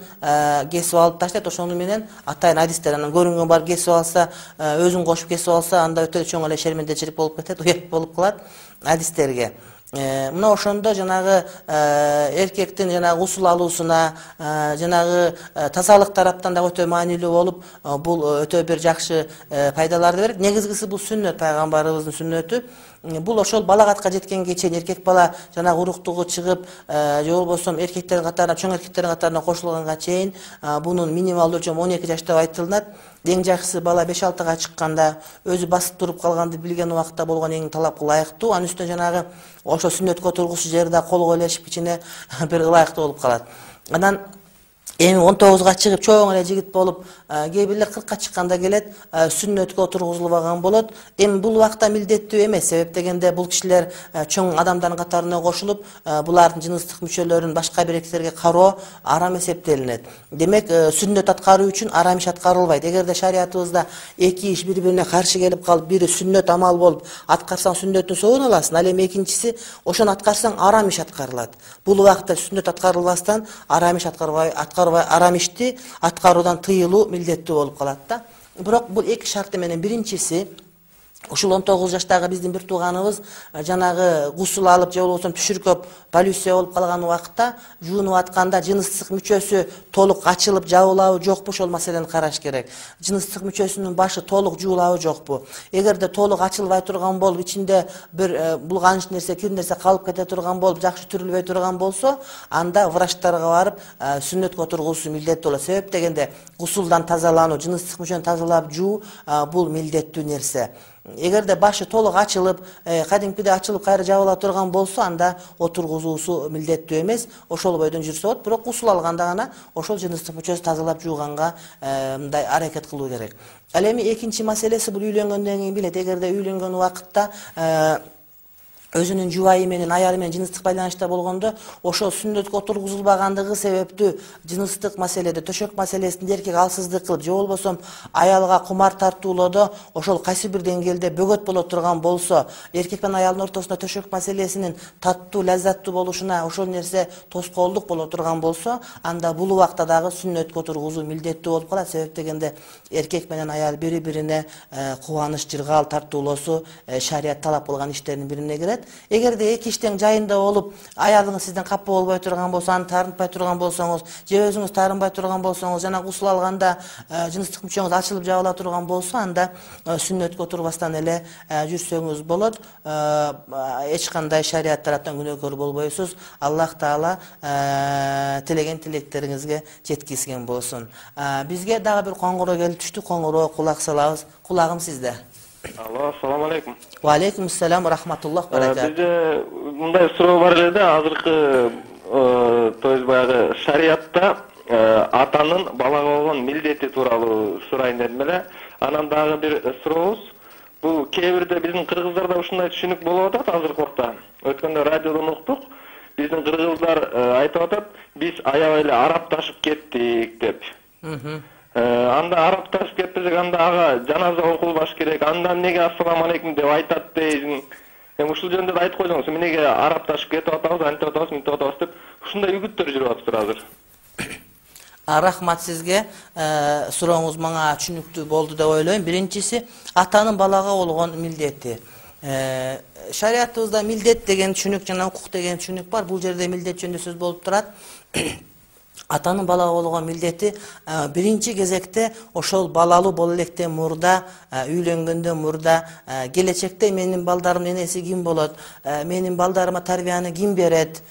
кесип алып таштайт. Ошону менен атайын адистер, анан көрүнгөн бар кесип алса, өзүн кошуп кесип алса, анда өтө чоң эле шермендечилик болуп кетет, уят болуп калат адистерге. Мына ошондо жанагы эркектин жанагы усул алуусуна, жанагы тазалык тараптан да өтө маанилүү болуп, бул өтө бир жакшы пайдаларды берет. Негизгиси бул сүннөт, пайгамбарыбыздын сүннөтү. Бул ошол балагатка жеткенге чейин эркек бала жанагы уруктугу чыгып, же болбосо эркектердин катарына, чоң эркектердин катарына кошулганга чейин бунун минималдуу өлчөмү 12 жаш деп айтылат. Эң жакшысы бала 5-6 чыкканда, өзү басып туруп калганды билген убакта болгон эң талапка ылайыктуу. Анын үстүнө жанагы ошо сүннөткө отургузуу жерде кол койлошуп кичине бир ылайыктуу болуп калат. Анан Эми 19-га чыгып чоң эле жигит болуп, кээ бирлер 40-ка чыкканда келет, сүннөткө отургузулбаган болот. Эми бул убакта милдеттүү эмес, себеп дегенде бул кишилер чоң адамдардын катарына кошулуп, булардын жыныстык мүчөлөрүн башка бир эркектерге кароо арам эсептелинет. Демек, сүннөт аткаруу үчүн арам иш аткарылбайт. Эгерде шариятыбызда эки иш бири-бирине каршы келип калып, бири сүннөт амал болуп, аткарсаң сүннөттүн соогун аласың, ал эми экинчиси ошону аткарсаң арам иш аткарылат. Бул убакта сүннөт аткарылбастан арам иш арам ишти аткаруудан тыйылуу милдеттүү болуп калат да. Бирок бул эки шарты менен биринчиси ушул 19 жаштагы биздин бир тууганыбыз жанагы гусул алып же болбосо түшүркөп полюция болуп калган убакта жуунуп атканда жыныстык мүчөсү толук ачылып жабылабы жокпу, ошол маселени караш керек. Жыныстык мүчөсүнүн башы толук жуулабы жокпу? Эгерде толук ачылбай турган болуп, ичинде бир булганыч нерсе, кир нерсе калып кете турган болуп, жакшы түрүлбөй турган болсо, анда врачтарга барып сүннөткө отургузуу милдеттүү болот. Себеп дегенде гусулдан тазалануу, жыныстык мүчөнү тазалап жуу бул милдеттүү нерсе. Эгерде башы толук ачылып, кадимкидей ачылып кайра жабыла турган болсо, анда отургузуусу милдеттүү эмес, ошол бойдон жүрсө болот. Бирок гусул алганда гана ошол жыныстык мүчөсү тазалап жууганга мындай аракет кылуу керек. Ал эми экинчи маселеси бул үйлөнгөндөн кийин билет. Эгерде үйлөнгөн убакытта өзүнүн жубайы менен, аялы менен жыныстык байланышта болгондо, ошол сүннөткө отургузулбагандыгы себептүү жыныстык маселеде, төшөк маселесинде эркек алсыздык кылып, же болбосо аялга кумар тартуулоодо ошол кайсы бир деңгээлде бөгөт боло турган болсо, эркек менен аялдын ортосунда төшөк маселесинин таттуу, лаззаттуу болушуна ошол нерсе тоскоолдук боло турган болсо, анда бул убакта дагы сүннөткө отургузуу милдеттүү болуп калат. Себеп дегенде эркек менен аял бири-бирине кубаныч, жыргал тартуулоосу шарият талап кылган иштердин бирине кирет. Эгерде эки иштен жайында болуп, аялыңыз сизден капа болбой турган болсо, аны таарынтпай турган болсоңуз, же өзүңүз таарынбай турган болсоңуз, жана гусул алганда жыныстык мүчөңүз ачылып жабыла турган болсо, анда сүннөткө отурбастан эле жүрсөңүз болот. Эч кандай шарият тараптан күнөөкөр болбойсуз. Аллах Таала тилеген тилектериңизге жеткизген болсун. Бизге дагы бир коңгуроо келип түштү. Коңгуроо кулак салабыз. Кулагым сизде. Алло, assalomu alaykum. Wa alaykum assalom va rahmatulloh barakatuh. Bizde bunday суроо бар эле да, азыркы то есть баягы шариятта атанын балага болгон милдети тууралуу сурайын дедим эле. Анан дагы бир сурообуз. Бул кээ бирде биздин кыргыздарда ушундай түшүнүк болуп атат азыркы убакта. Өткөндө радиодон уктук. Биздин кыргыздар айтып атат, биз аябай эле арапташып кеттик деп. Анда арапташып кетпесек, анда ага жаназа окулбаш керек. Андан неге ассаламу алейкум деп айтат дейсиң. Эми ушул жөнүндө айтып койсоңуз, эмнеге арапташып кетип атабыз, антип атабыз, мынтип атабыз деп ушундай үгүттөр жүрүп атыптыр азыр. Рахмат сизге. Сурооңуз мага түшүнүктүү болду деп ойлойм. Биринчиси, атанын балага болгон милдети. Шариятыбызда милдет деген түшүнүк жана укук деген түшүнүк бар. Бул жерде милдет жөнүндө сөз болуп турат. Атанын балага болгон милдети биринчи кезекте ошол балалуу боло электен мурда, үйлөнгөндөн мурда, келечекте менин балдарымдын энеси ким болот, менин балдарыма тарбияны ким берет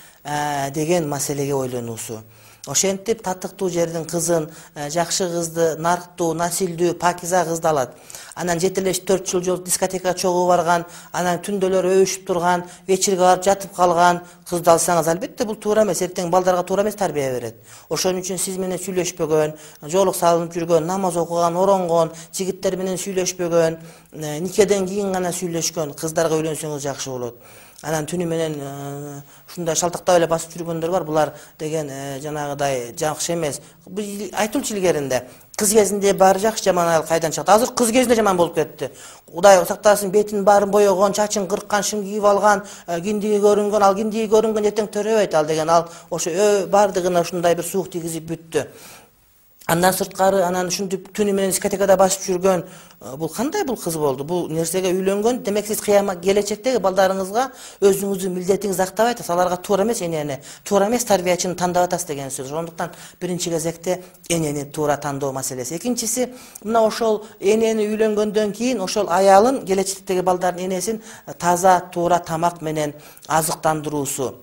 деген маселеге ойлонуусу. Ошентип татыктуу жердин кызын, жакшы кызды, нарктуу, насилдүү, пакиза кызды алат. Анан жетелеш 4 жыл дискотекага чогуу барган, анан түндөлөр өбүшүп турган, вечерге барып жатып калган кызды алсаңыз, албетте бул туура эмес, эртең балдарга туура эмес тарбия берет. Ошон үчүн сиз менен сүйлөшпөгөн, жоолук салынып жүргөн, намаз окуган, оронгон, жигиттер менен сүйлөшпөгөн, никеден кийин гана сүйлөшкөн кыздарга үйлөнсөңүз жакшы болот. Анан түнү менен ушундай шалтактап эле басып жүргөндөр бар. Булар деген жанагыдай жакшы эмес. Айтылчу илгеринде кыз кезинде баары жакшы, жаман айыл кайдан чыкты? Азыр кыз кезинде жаман болуп кетти. Кудай сактасын, бетин баарын боёгон, чачын кырккан, шым кийип алган, киндиги көрүнгөн, ал киндиги көрүнгөн эртең төрөбөйт ал деген. Ал ошо баардыгына ушундай бир суук тийгизип бүттү. Андан сырткары, анан ушинтип түнү менен дискотекада басып жүргөн, бул кандай бул кыз болду? Бул нерсеге үйлөнгөн. Демек сиз кыямат келечектеги балдарыңызга өзүңүздүн милдетиңизди актабай атасыз. Аларга туура эмес энени, туура эмес тарбиячыны тандап атасыз деген сөз. Ошондуктан биринчи кезекте энени туура тандоо маселеси. Экинчиси, мына ошол энени үйлөнгөндөн кийин ошол аялын, келечектеги балдардын энесин таза, туура тамак менен азыктандыруусу.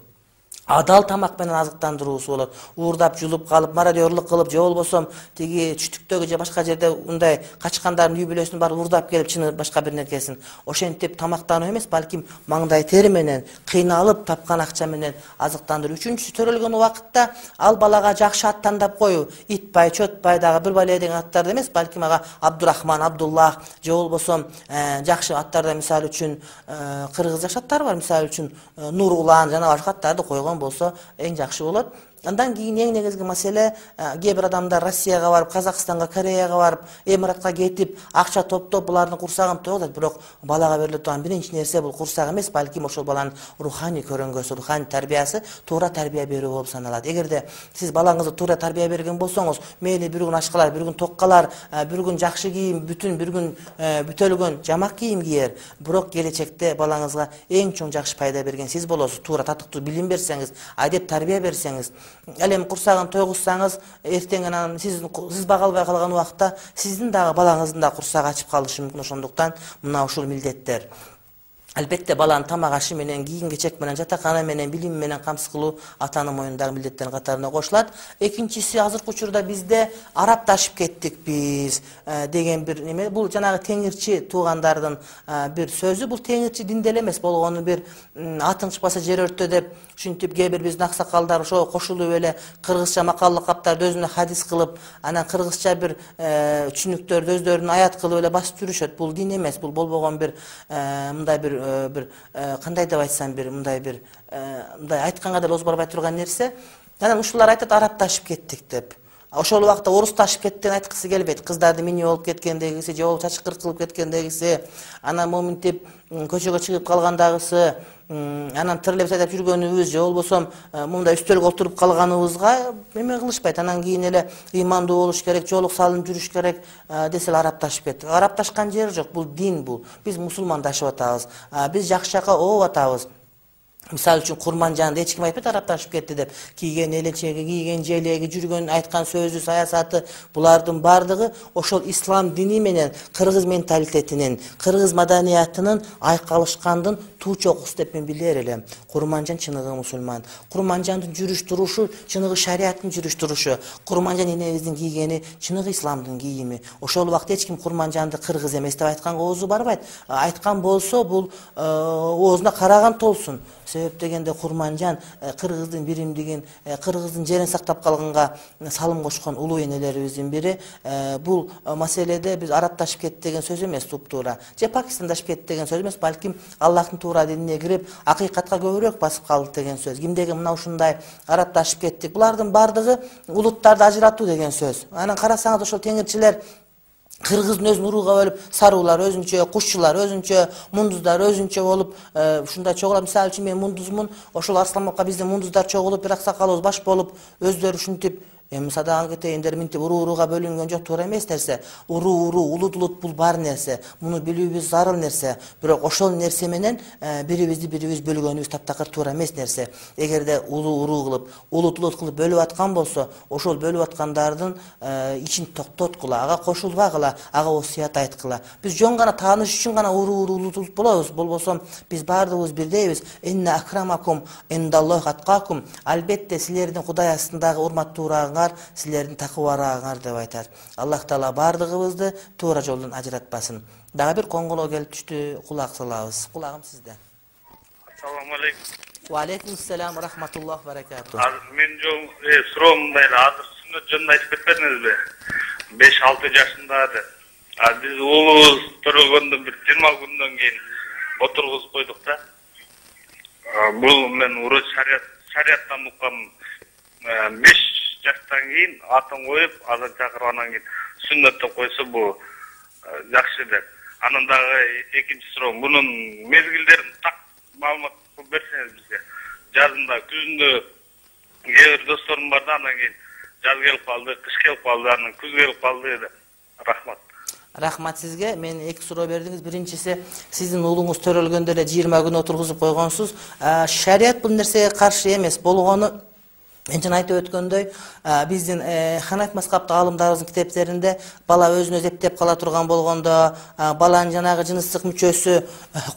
адал тамак менен азыктандыруусу болот. Уурдап жулуп калып, мародёрлук кылып, же болбосо тиги чүтүктөгү же башка жерде ундай качкандардын үй бүлөсүн барып уурдап келип чыны башка бир нерсесин ошентип тамактануу эмес, балким маңдай тери менен, кыйналып тапкан акча менен азыктандыруу. Үчүнчүсү, төрөлгөн убакытта ал балага жакшы ат тандап коюу. Итбай, Чөтбай дагы бир бале деген аттарды эмес, балким ага Абдурахман, Абдуллах же болбосо жакшы аттарда, мисалы үчүн кыргыз жакшы аттар бар, мисалы үчүн Нурулан жана башка аттарды койгон болсо эң жакшы болот. Андан кийин эң негизги маселе, кээ бир адамдар Россияга барып, Казакстанга, Кореяга барып, Эмиратка кетип, акча топтоп, булардын курсагын тойлойт. Бирок балага бериле турган биринчи нерсе бул курсак эмес, балким ошол баланын руханий көрөнгөсү, руханий тарбиясы, туура тарбия берүү болуп саналат. Эгерде сиз балаңызды туура тарбия берген болсоңуз, мейли бир күн аш калар, бир күн ток калар, бир күн жакшы кийим, бир күн бүтөлгөн жамак кийим кийер, бирок келечекте балаңызга эң чоң жакшы пайда берген сиз болосуз. Туура татыктуу билим берсеңиз, адеп тарбия берсеңиз, ал эми курсагын тойгузсаңыз, эртең анан сиз бага албай калган убакта сиздин дагы балаңыздын да курсагы ачып калышы мүмкүн. Ошондуктан мына ушул милдеттер албетте баланын тамак ашы менен, кийим кечек менен, жатакана менен, билим менен камсыз кылуу атанын мойнундагы милдеттердин катарына кошулат. Экинчиси, азыркы учурда бизде арапташып кеттик биз деген бир неме. Бул жанагы теңирчи туугандардын бир сөзү. Бул теңирчи динде эле эмес, болгону бир атың чыкпаса жер өртө деп ушинтип кээ бир биздин аксакалдар ошого кошулуп эле кыргызча макаллык каптарды өзүнө хадис кылып, анан кыргызча бир түшүнүктөрдү өздөрүнүн аят кылып эле басып жүрүшөт. Бул дин эмес, бул болбогон бир мындай бир кандай деп айтсам, бир мындай айтканга деле оз барбай турган нерсе. Анан ушулар айтат арапташып кеттик деп. Ошол убакта орусташып кеттен айткысы келбейт. Кыздарды мини болуп кеткендегиси, же болбосо чачкыр кылып кеткендегиси, анан моминтип көчөгө чыгып калгандагысы, анан тырылып айдап жүргөнүбүз, же болбосо мындай үстөлгө отуруп калганыбызга эме кылышпайт. Анан кийин эле ыймандуу болуш керек, жоолук салынып жүрүш керек десе арапташып кеттик. Арапташкан жери жок. Бул дин бул. Биз мусулмандашып атабыз. Биз жакшы жака ооп атабыз. Мисалы үчүн Курманжанды эч ким айтпайт арапташып кетти деп. Кийген элечеги, кийген желеги, жүргөн, айткан сөзү, саясаты, булардын бардыгы ошол ислам дини менен кыргыз менталитетинин, кыргыз маданиятынын айкалышкандын туу чокусу деп мен билер элем. Курманжан чыныгы мусулман. Курманжандын жүрүш турушу чыныгы шариаттын жүрүш турушу. Курманжан энебиздин кийгени чыныгы исламдын кийими. Ошол убакта эч ким Курманжанды кыргыз эмес деп айтканга оозу барбайт. Айткан болсо бул оозуна караган толсун. Себеп дегенде Курманжан кыргыздын биримдигин, кыргыздын жерин сактап калганга салым кошкон улуу энелерибиздин бири. Бул маселеде биз арапташып кетти деген сөз эмес, туптуура. Же Пакистандашып кетти деген сөз эмес, балким Аллахтын туура динине кирип, акыйкатка көбүрөөк басып калды деген сөз. Кимдеги мына ушундай арапташып кеттик. Булардын бардыгы улуттарды ажыратуу деген сөз. Анан карасаңыз ошол теңирчилер кыргыздын өзүн урууга бөлүп, саруулар өзүнчө, кушчулар өзүнчө, мундуздар өзүнчө болуп ушундай чогулат. Мисалы үчүн мен мундузмун, ошол Арсланбекка биздин мундуздар чогулуп, бир аксакалыбыз баш болуп, өздөрү ушинтип садаган кетейиндер минтип урууга бөлүнгөн жок, туура эмес нерсе. Уруу, улут бул бар нерсе. Муну билүүбүз зарыл нерсе. Бирок ошол нерсе менен бирибизди бирибиз бөлгөнүбүз таптакыр туура эмес нерсе. Эгерде уруу кылып, улут кылып бөлүп аткан болсо, ошол бөлүп аткандардын ичин токтоткула, ага кошулбагыла, ага осуят айткыла. Биз жөн гана тааныш үчүн гана уруу улут болобуз. Болбосо биз баардыгыбыз бирдейбиз. Инна акрамакум индаллахи аткакум. Албетте силердин Кудай астындагы урматтуурааңар силердин такыбараагыңар деп айтат. Аллах Таала бардыгыбызды туура жолдон ажыратпасын. Дагы бир коңгулоо келип түштү, кулак салабыз. Кулагым сизде. Ассаламу алейкум. Ва алейкум ассалам ва рахматуллахи ва баракатуh. Мен суроом мындай, азыр сүннөт жөнүндө айтып кетпедиңизби? 5-6 жашында деп. Биз уулубуз төрөлгөндөн бир 20 күндөн кийин отургузуп койдук да. Бул мен уруч шарияттан уккам. 5 жаштан кийин атын коюп, азан чакырып, анан кийин сүннөттө койсо бул жакшы деп. Анан дагы экинчи суроо, мунун мезгилдерин так маалымат кылып берсеңиз бизге. Жазында, күзүндө кээ бир досторум бар да, анан кийин жаз келип калды, кыш келип калды, анан күз келип калды деп. Рахмат. Рахмат сизге. Мен эки суроо бердиңиз. Биринчиси, сиздин уулуңуз төрөлгөндө эле 20 күн отургузуп койгонсуз. Шарият бул нерсеге каршы эмес. Болгону Мен жана айтып өткөндөй, биздин Ханафи мазхабтык аалымдарыбыздын китептеринде бала өзүн өзү эптеп кала турган болгондо, баланын жанагы жыныстык мүчөсү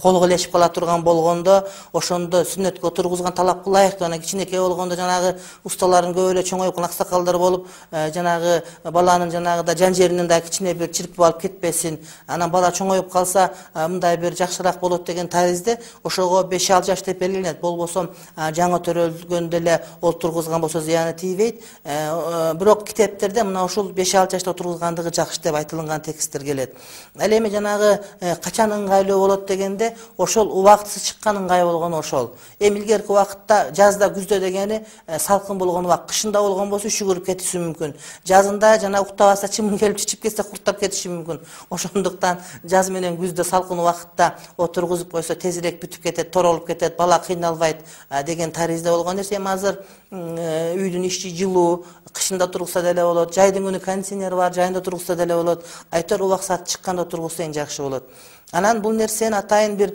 колго илешип кала турган болгондо, ошондо сүннөткө отургузган талапка ылайык жана кичинекей болгондо жанагы усталарын көп эле чоңоюп аксакалдар болуп, жанагы баланын жанагыда жан жеринен да кичине бир чирпип алып кетпесин, анан бала чоңоюп калса мындай бир жакшыраак болот деген таризде ошого 5-6 жаш деп белгиленет. Болбосо жаңы төрөлгөндө эле отургузган болсо зыяны тийбейт. Бирок китептерде мына ушул 5-6 жашта отургузгандыгы жакшы деп айтылган тексттер келет. Ал эми жанагы качан ыңгайлуу болот дегенде, ошол убактысы чыккан ыңгай болгону ошол. Эми илгерки убакытта жазда, күздө дегени салкын болгон убакыт, кышында болгон болсо үшүгүрүп кетиши мүмкүн. Жазында жана уктабаса чымын келип чичип кетсе курттап кетиши мүмкүн. Ошондуктан жаз менен күздө салкын убакытта отургузуп койсо тезирээк бүтүп кетет, торолуп кетет, бала кыйналбайт деген таризде болгон нерсе. Эми азыр үйдүн ичи жылуу, кышында тургузса деле болот, жайдын күнү кондиционер бар, жайында тургузса деле болот. Айтор убак саат чыкканда тургузса эң жакшы болот. Анан бул нерсенин атайын бир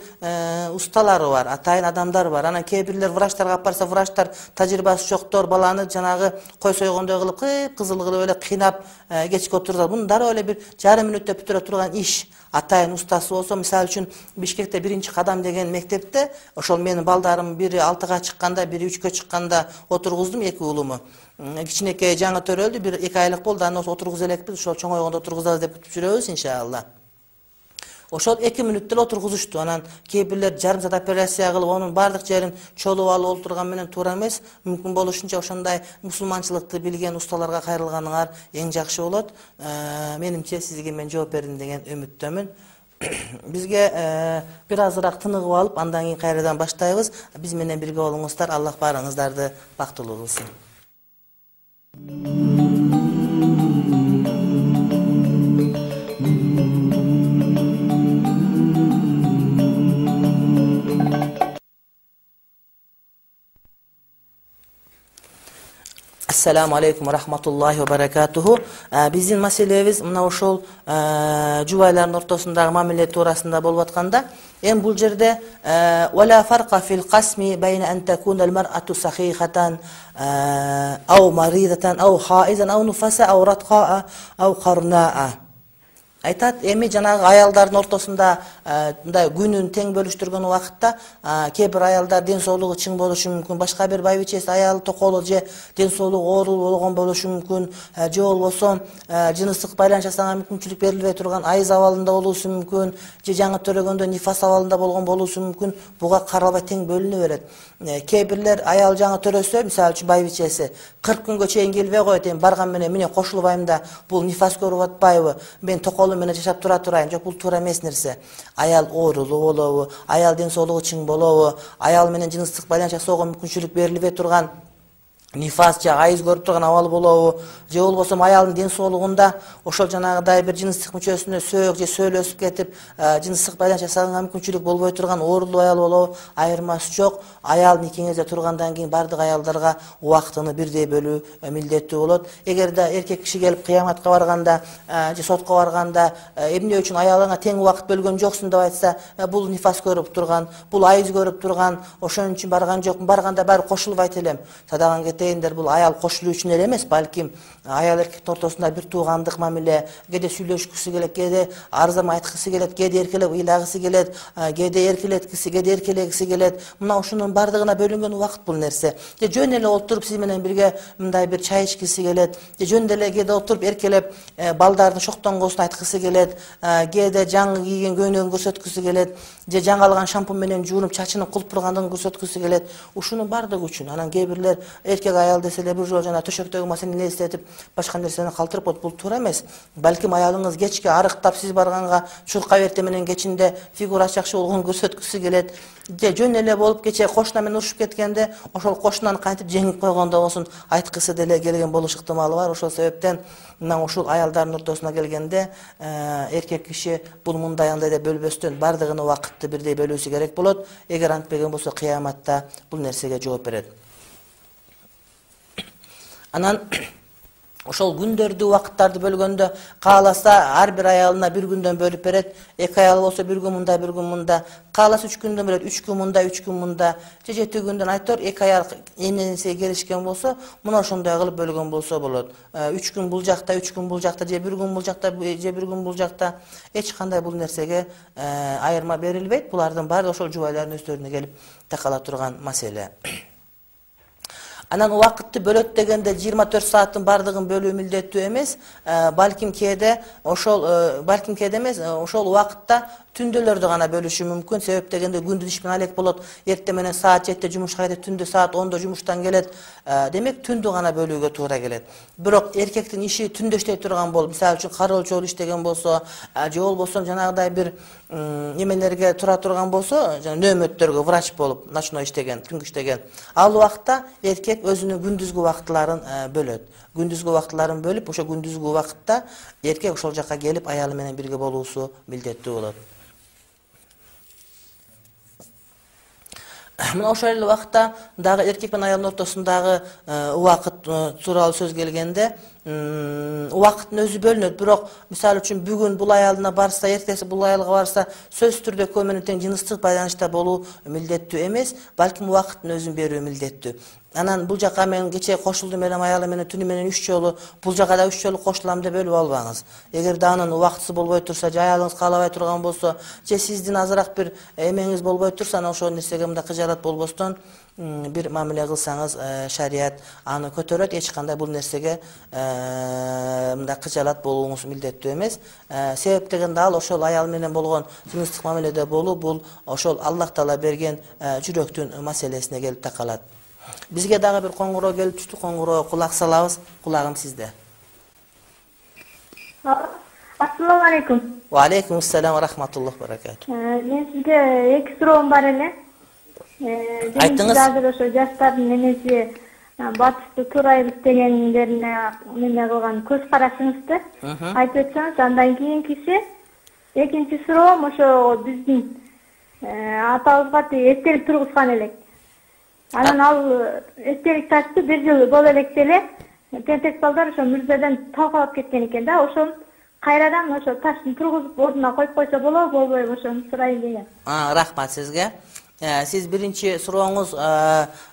усталары бар, атайын адамдар бар. Анан кээ бирлер врачтарга алып барса, врачтар тажрыйбасы жоктор баланы жанагы кой сойгондой кылып, кызыл кылып эле кыйнап кечке отургузат. Мунун дароо эле бир жарым мүнөттө бүтүрө турган иш. Атайын устасы болсо, мисалы үчүн Бишкекте 1-кадам деген мектепте ошол менин балдарым бири 6-га чыкканда, бири 3-кө чыкканда отургуздум, 2 уулуму. Кичинекей жаңы төрөлдү, 1-2 айлык болду, аны отургуза элекпиз, ошол чоңойгондо отургузабыз деп күтүп жүрөбүз иншалла. Ошол 2 мүнөттө эле отургузушту. Анан кээ бирлер жарым саат операция кылып, анын бардык жерин чолуп алып олтурган менен туура эмес. Мүмкүн болушунча ошондой мусулманчылыкты билген усталарга кайрылганыңар эң жакшы болот. Менимче сизге мен жооп бердим деген үмүттөмүн. Бизге бир азыраак тыныгып алып, андан кийин кайрадан баштайбыз. Биз менен бирге болуңуздар. Аллах баарыңыздарды бактылуу кылсын. Assalamu alaikum wa rahmatullahi wa barakatuhu. Биздин маселебиз мына ошол жубайлардын ортосундагы мамиле туурасында болуп атканда, эми бул жерде wala farqa fil qasmi bayna an takuna al-mar'atu sakhihatan aw maridatan aw haizan aw nufasa aw ratqa aw qarna'a. Айтат, эми жанагы аялдардын ортосунда мындай күнүн тең бөлүштүргөн убакытта кээ бир аялдар ден соолугу чың болушу мүмкүн, башка бир байбичеси аял токолу же ден соолугу оору болгон болушу мүмкүн, же болбосо жыныстык байланыш жасаганга мүмкүнчүлүк берилбей турган айыз абалында болушу мүмкүн, же жаңы төрөгөндө нифас абалында болгон болушу мүмкүн. Буга каралбай тең бөлүнө берет. Кээ бирлер аял жаңы төрөсө, мисалы үчүн байбичеси 40 күнгө чейин келбей коет, эми барган менен міне кошулбайм да, бул нифас көрүп атпайбы, мен токолу менен жашап тура турайын. Жок, бул туура эмес нерсе. Аял оорулуу болобу, аял ден соолугу чың болобу, аял менен жыныстык байланыш жасоого мүмкүнчүлүк берилбей турган нифас же айыз көрүп турган абал болобу, же болбосо аялдын ден соолугунда ошол жанагыдай бир жыныстык мүчөсүнө сөөк же сөөл өсүп кетип, жыныстык байланыш жасаганга мүмкүнчүлүк болбой турган оорулуу аял болобу, айырмасы жок. Аял никеңизде тургандан кийин бардык аялдарга убактыны бирдей бөлүү милдеттүү болот. Эгерде эркек киши келип кыяматка барганда же сотко барганда эмне үчүн аялыңа тең убакыт бөлгөн жоксуң деп айтса, бул нифас көрүп турган, бул айыз көрүп турган, ошон үчүн барган жокмун, барганда баары кошулбайт элем. Садаган бул аял кошулуу үчүн эле эмес, балким аял эркектин ортосунда бир туугандык мамиле, кээде сүйлөшкүсү келет, кээде арзама айткысы келет, кээде эркелеп ыйлагысы келет, кээде эркелеткиси, кээде эркелегиси келет. Мына ушунун бардыгына бөлүнгөн убакыт бул нерсе. Же жөн эле отуруп сиз менен бирге мындай бир чай ичкиси келет, же жөн эле кээде отуруп эркелеп балдардын шоктонгосун айткысы келет, кээде жаңы кийген көйнөгүн көрсөткүсү келет, же жаңы алган шампунь менен жуунуп чачынын кулпургандыгын көрсөткүсү келет. Ушунун бардыгы үчүн. Анан кээ бирлер эркек аял деселе бир жолу жана төшөктөгү маселени элестетип башка нерсени калтырып коет. Бул туура эмес. Балким аялыңыз кечке арыктап сиз барганга чуркап эрте менен кечинде фигурасы жакшы болгонун көрсөткүсү келет, же жөн эле болуп кече кошуна менен урушуп кеткенде ошол кошунаны кантип жеңип койгондо болсун айткысы деле келген болуш ыктымалы бар. Ошол себептен мына ушул аялдардын ортосуна келгенде эркек киши бул мындай андай деп бөлбөстөн бардыгын убакытты бирдей бөлүүсү керек болот. Эгер антпеген болсо кыяматта бул нерсеге жооп берет. Анан ошол күндөрдү убакыттарды бөлгөндө кааласа ар бир аялына бир күндөн бөлүп берет. 2 аял болсо бир күн мында, бир күн мында. Кааласа 3 күндөн бөлөт, 3 күн мында, 3 күн мында. Же 7 күндөн айтор 2 аял эмнеге келишкен болсо, мына ошондой кылып бөлгөн болсо болот. 3 күн бул жакта, 3 күн бул жакта, же 1 күн бул жакта, же 1 күн бул жакта. Эч кандай бул нерсеге айырма берилбейт. Булардын баары ошол жубайлардын өздөрүнө келип такала турган маселе. Анан убакытты бөлөт дегенде 24 сааттын бардыгын бөлүү милдеттүү эмес. Балким кээде эмес, ошол убакытта түндөлөрдү гана бөлүшү мүмкүн. Себеп дегенде күндүз иш менен алек болот. Эртең менен саат 7-те жумушка кетет, түндө саат 10-до жумуштан келет. Демек түндү гана бөлүүгө туура келет. Бирок эркектин иши түндө иштей турган болуп, мисалы үчүн кароолчу иштеген болсо, же болбосо жанагыдай бир эмелерге тура турган болсо, жана нөөмөттөргө врач болуп, ночной иштеген, түнгү иштеген. Ал убакта эркек өзүнүн күндүзгү убактыларын бөлөт. Күндүзгү убактыларын бөлүп, ошо күндүзгү убакытта эркек ошол жакка келип аялы менен бирге болуусу милдеттүү болот. Мына ошол эле убакытта дагы эркек менен аялдын ортосундагы убакыт тууралуу сөз келгенде, убакыттын өзү бөлүнөт. Бирок мисалы үчүн бүгүн бул аялына барса, эртеси бул аялга барса, сөзсүз түрдө экөө менен тең жыныстык байланышта болуу милдеттүү эмес, балким убакыттын өзүн берүү милдеттүү. Анан бул жака мен кечээ кошулдум элем аялы менен түнү менен 3 жолу, бул жака да 3 жолу кошулам деп бөлүп албаңыз. Эгерде анын убактысы болбой турса, же аялыңыз каалабай турган болсо, же сиздин азыраак бир эмеңиз болбой турса, анан ошол нерсеге мындай кыжаалат болбостон бир мамиле кылсаңыз, шарият аны көтөрөт. Эч кандай бул нерсеге мындай кыжаалат болууңуз милдеттүү эмес. Себеп дегенде ал ошол аял менен болгон жыныстык мамиледе болуу, бул ошол Аллах Таала берген жүрөктүн маселесине келип такалат. Бизге дагы бир коңгуроо келип түштү, коңгуроого кулак салабыз. Кулагым сизде. Ассаламу алейкум. Ва алейкум ассалам ва рахматуллах баракату. Мен сизге 2 суроом бар эле. Айтыңыз. Азыр ошо жаштардын эмеси батышты туурайбыз дегендерине неме кылган көз карашыңызды айтып өтсөңүз, андан кийинкиси экинчи суроом ошо биздин атабызга эстелик тургузган элек. Анан ал эстелик ташты 1 жыл боло электе эле тентек балдар ошо мүрзөдөн талкалап кеткен экен да. Ошол кайрадан ошо таштын тургузуп ордуна коюп койсо болобу, болбойбу, ошону сурайын деген. Рахмат сизге. Сиз биринчи сурооңуз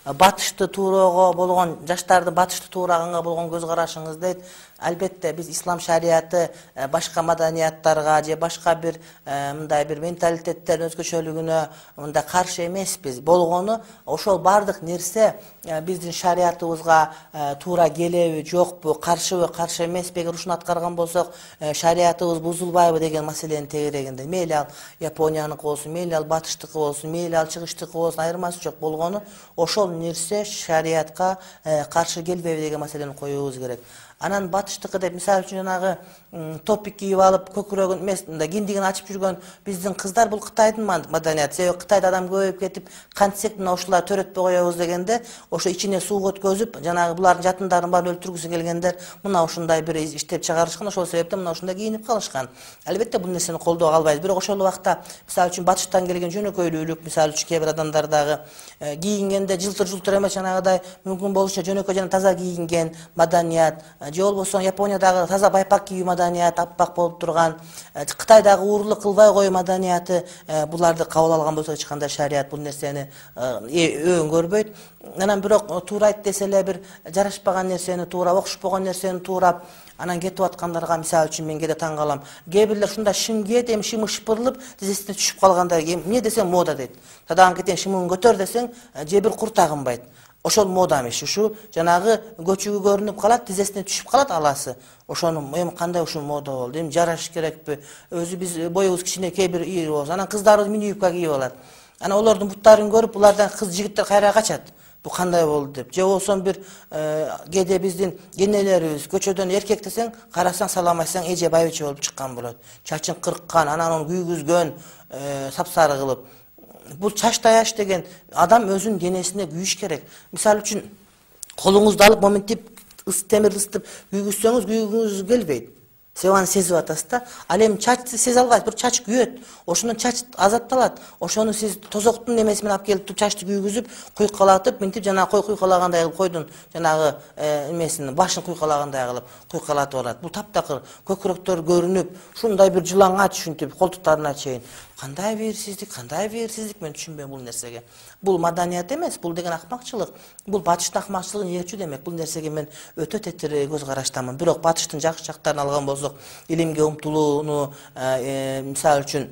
батышты тууроого болгон, жаштарды батышты туураганга болгон көз карашыңыз дейт. Албетте биз ислам шарияты башка маданияттарга же башка бир мындай бир менталитеттердин өзгөчөлүгүнө мындай каршы эмеспиз. Болгону ошол бардык нерсе биздин шариятыбызга туура келеби, жокпу, каршыбы, каршы эмеспи, эгер ушуну аткарган болсок, шариятыбыз бузулбайбы деген маселенин тегерегинде. Мейли ал Японияныкы болсун, мейли ал батыштыкы болсун, мейли ал чыгыштыкы болсун, айырмасы жок. Болгону ошол нерсе шариятка каршы келбейби деген маселени коюубуз керек. Анан батыштыкы деп мисалы үчүн жанагы топик кийип алып, көкүрөгүн эмес, мындай киндигин ачып жүргөн биздин кыздар, бул Кытайдын маданияты. Себеби Кытайда адам көбөйүп кетип, кантсек мына ушулар төрөтпөй коебуз дегенде, ошо ичине суу өткөзүп, жанагы булардын жатындарын баарын өлтүргүсү келгендер мына ушундай бир иштеп чыгарышкан, ошол себептен мына ушундай кийинип калышкан. Албетте бул нерсени колдоого албайбыз. Бирок ошол убакта мисалы үчүн батыштан келген жөнөкөйлүүлүк, мисалы үчүн кээ бир адамдар дагы кийингенде жылтыр эмес, жанагыдай мүмкүн болушунча жөнөкөй жана таза кийинген маданият, же болбосо Япониядагы таза байпак кийүү маданият, аппак болуп турган, Кытайдагы уурлук кылбай коюу маданияты, буларды кабыл алган болсо эч кандай шарият бул нерсени өң көрбөйт. Анан бирок туура айт десе эле бир жарашпаган нерсени туура, окшошпогон нерсени туурап анан кетип аткандарга мисалы үчүн мен кээде таң калам. Кээ бирлер ушундай шым кийет, эми шымы шыпырылып, тизесине түшүп калганда, эмне десең мода дейт. Тадаган кетен шымын көтөр десең, же бир кур тагынбайт. Ошол мода эмес, ушу жанагы көчүгү көрүнүп калат, тизесине түшүп калат аласы. Ошону эми кандай ушул мода болду? Эми жараш керекпи? Өзү биз боюбуз кичине кээ бир ийри болсо, анан кыздарыбыз мини юбка кийип алат. Анан олордун буттарын көрүп, булардан кыз жигиттер кайра качат. Бу кандай болду деп. Же болсо бир кээде биздин энелерибиз көчөдөн эркек десең, карасаң салам айтсаң эже байбиче болуп чыккан болот. Чачын кырккан, анан аны күйгүзгөн, сапсары кылып. Бул чач таяш деген адам өзүнүн денесине күйүш керек. Мисалы үчүн колуңузду алып моментип темир ысытып күйгүзсөңүз күйгүңүз келбейт. Сиз аны сезип атасыз да. Ал эми чачты сезе албайсыз, бир чач күйөт. Ошондон чач азатталат. Ошону сиз тозоктун немеси менен алып келип чачты күйгүзүп, куйкалатып, мынтип жана кой куйкалагандай кылып койдун жанагы эмесин башын куйкалагандай кылып куйкалатып алат. Бул таптакыр көкүрөктөр көрүнүп, ушундай бир жылаңач ушинтип колтуктарына чейин. Кандай бээрсиздик, мен түшүнбөйм бул нерсеге. Бул маданият эмес, бул деген акмакчылык. Бул батыштын акмакчылыгын ээрчүү демек. Бул нерсеге мен өтө тетир көз караштамын. Бирок батыштын жакшы жактарын алган болсок, илимге умтулууну, мисалы үчүн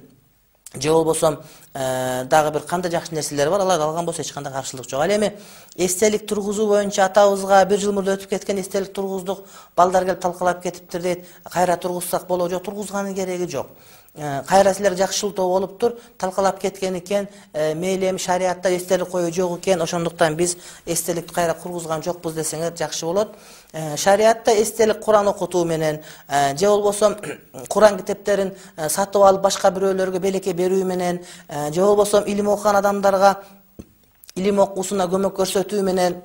же болбосо дагы бир кандай жакшы нерселер бар, аларды алган болсо эч кандай каршылык жок. Ал эми эстелик тургузуу боюнча атабызга бир жыл мурда өтүп кеткен эстелик тургуздук, балдар келип талкалап кетиптир дейт. Кайра тургузсак болобу? Жок, тургузганын кереги жок. Кайра силер жакшылтоо болуптур, талкалап кеткен экен, мейли эми шариатта эстелик коюу жок экен, ошондуктан биз эстеликти кайра кургузган жокпуз десеңер жакшы болот. Шариатта эстелик Куран окутуу менен же болбосо Куран китептерин сатып алып башка бирөөлөргө белекке берүү менен же болбосо илим окуган адамдарга илим окуусуна көмөк көрсөтүү менен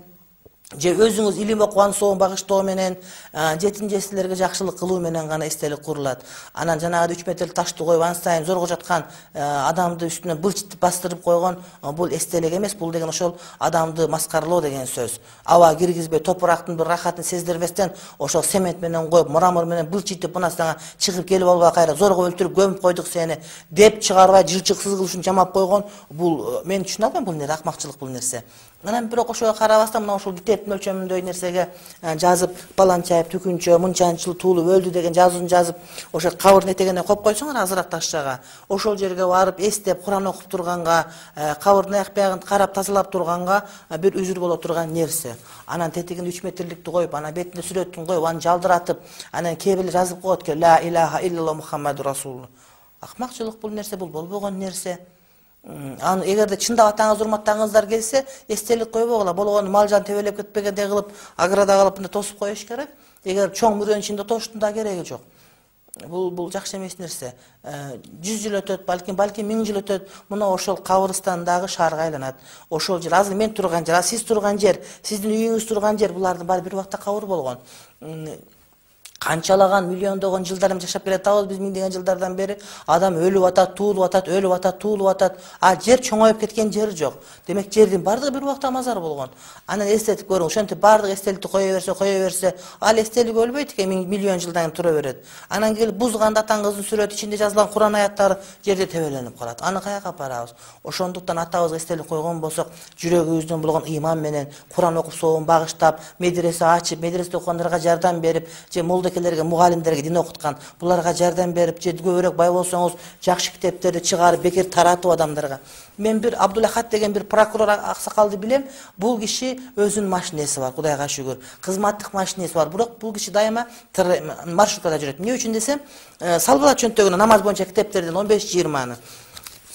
же өзүңүз илим окуган соң багыштоо менен жетим жесирлерге жакшылык кылуу менен гана эстелик курулат. Анан жанагы 3 метрлик ташты коюп ансайын зорго жаткан адамды үстүнө былчытып бастырып койгон бул эстелик эмес. Бул деген ошол адамды маскаралоо деген сөз. Аба киргизбей, топурактын бир рахатын сездирбестен ошол цемент менен коюп, мрамор менен былчытып, мына сага чыгып келип албай кайра зорго өлтүрүп көмүп койдук сени деп чыгарбай жылчыксыз кылышын жамап койгон. Бул мен түшүнө албайм, бул нерсе акмакчылык бул нерсе. Анан бирок ошого карабастан мына ошол китептин өлчөмүндөй нерсеге жазып, баланчайып, түкүнчө, мынчанчыл туулуп өлдү деген жазуун жазып, ошо кабырдын этегине коюп койсоңор азыраак ташчага. Ошол жерге барып эстеп, Куран окуп турганга, кабырдын аяк биягын карап тазалап турганга бир үзүр боло турган нерсе. Анан тетигин 3 метрликти коюп, анан бетине сүрөтүн коюп, аны жалдыратып, анан кээ бирler жазып коет экен: ла илаха иллаллах Мухаммаду расулуллах. Акмакчылык бул нерсе, бул болбогон нерсе. Аны эгерде чындап атаңыз урматтагыңыздар келсе, эстелик койбогула, болгону мал жан тебелеп кетпегендей кылып, аграда кылып мындай тосуп коюш керек. Эгер чоң мурдын ичинде тоштун да кереги жок. Бул жакшы эмес нерсе. 100 жыл өтөт, балким 1000 жыл өтөт, мына ошол кабырстандагы шаарга айланат. Ошол жер, азыр мен турган жер, сиз турган жер, сиздин үйүңүз турган жер, булардын баары бир убакта кабыр болгон. Канчалаган миллиондогон жылдар жашап келатабыз биз, миңдеген жылдардан бери. Адам өлүп атат, туулуп атат, өлүп атат, туулуп атат. Жер чоңоюп кеткен жер жок. Демек жердин бардыгы бир убакта мазар болгон. Анан эстетип көрүң, ошентип бардык эстеликти кое берсе, ал эстелик өлбөйт экен, миллион жылдан кийин тура берет. Анан келип бузганда атаңыздын сүрөтү ичинде жазылган Куран аяттары жерде тебеленип калат. Аны каяка апарабыз? Ошондуктан атабызга эстелик койгон болсок, жүрөгүбүздөн болгон ыйман менен Куран окуп соогун багыштап, медресе ачып, медреседе окугандарга жардам берип, же молдекелерге, мугалимдерге дин окуткан, буларга жардам берип, же көбүрөөк бай болсоңуз, жакшы китептерди чыгарып, бекер таратып адамдарга. Мен бир Абдулахат деген бир прокурор аксакалды билем. Бул киши өзүнүн машинеси бар, Кудайга шүгүр. Кызматтык машинеси бар. Бирок бул киши дайыма маршруткада жүрөт. Эмне үчүн десем, Салбалат чөнтөгүнө намаз боюнча китептерден 15-20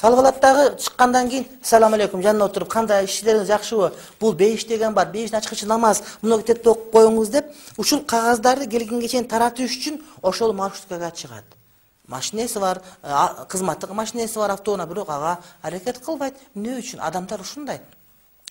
Салбалаттагы чыккандан кийин салам алейкум жанына отуруп, кандай ишлериңиз жакшыбы? Бул бейиш деген бар, бейиштин ачкычы намаз, муну китепти окуп коюңуз деп, ушул кагаздарды келгенге чейин таратыш үчүн ошол маршруткага чыгат. Машинеси бар, кызматтык машинеси бар автоунаа, бирок ага аракет кылбайт. Эмне үчүн? Адамдар ушундай.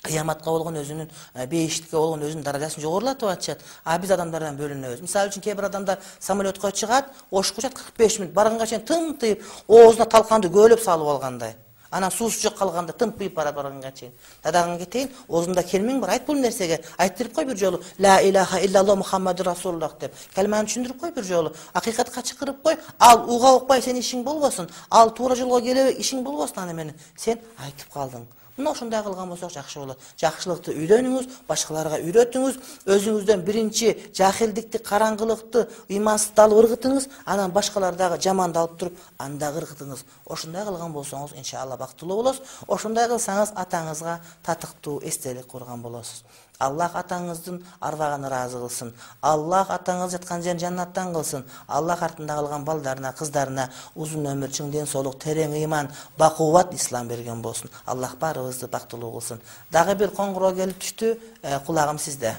Кыяматка болгон өзүнүн, бейиштикке болгон өзүнүн даражасын жогорулатып атышат. Биз адамдардан бөлүнөбүз. Мисалы үчүн кээ бир адамдар самолетко чыгат, ошкучат 45 мүнөт, барганга чейин тымтыйып, оозуна талканды көөлөп салып алгандай. Анан суусу жок калганда тымпыйып барганга чейин. Дадаган кетейин, оозунда келмең бар, айт бул нерсеге. Айттырып кой бир жолу. Ла илаха иллаллах Мухаммаду расулуллах деп. Калманы түшүндүрүп кой бир жолу. Акыйкатка чакырып кой. Ал уга укпай сен ишиң болбосун. Ал туура жолго келе ишиң болбосун аны менен. Сен айтып калдың. Мына ошондой кылган болсок жакшы болот. Жакшылыкты үйрөнүңүз, башкаларга үйрөтүңүз, өзүңүздөн биринчи жахилдикти, караңгылыкты, ыймансыздыкты ыргытыңыз, анан башкалар дагы жаманды алып туруп, аны дагы ыргытыңыз. Ошондой кылган болсоңуз, иншалла бактылуу болосуз. Ошондой кылсаңыз, атаңызга татыктуу эстелик курган болосуз. Аллах атаңыздын арбагын ыраазы кылсын. Аллах атаңыз жаткан жерин жаннаттан кылсын. Аллах артында калган балдарына, кыздарына узун өмүр, чың ден соолук, терең ыйман, бакубат ислам берген болсун. Аллах баарыбызды бактылуу кылсын. Дагы бир коңгуроо келип түштү. Кулагым сизде.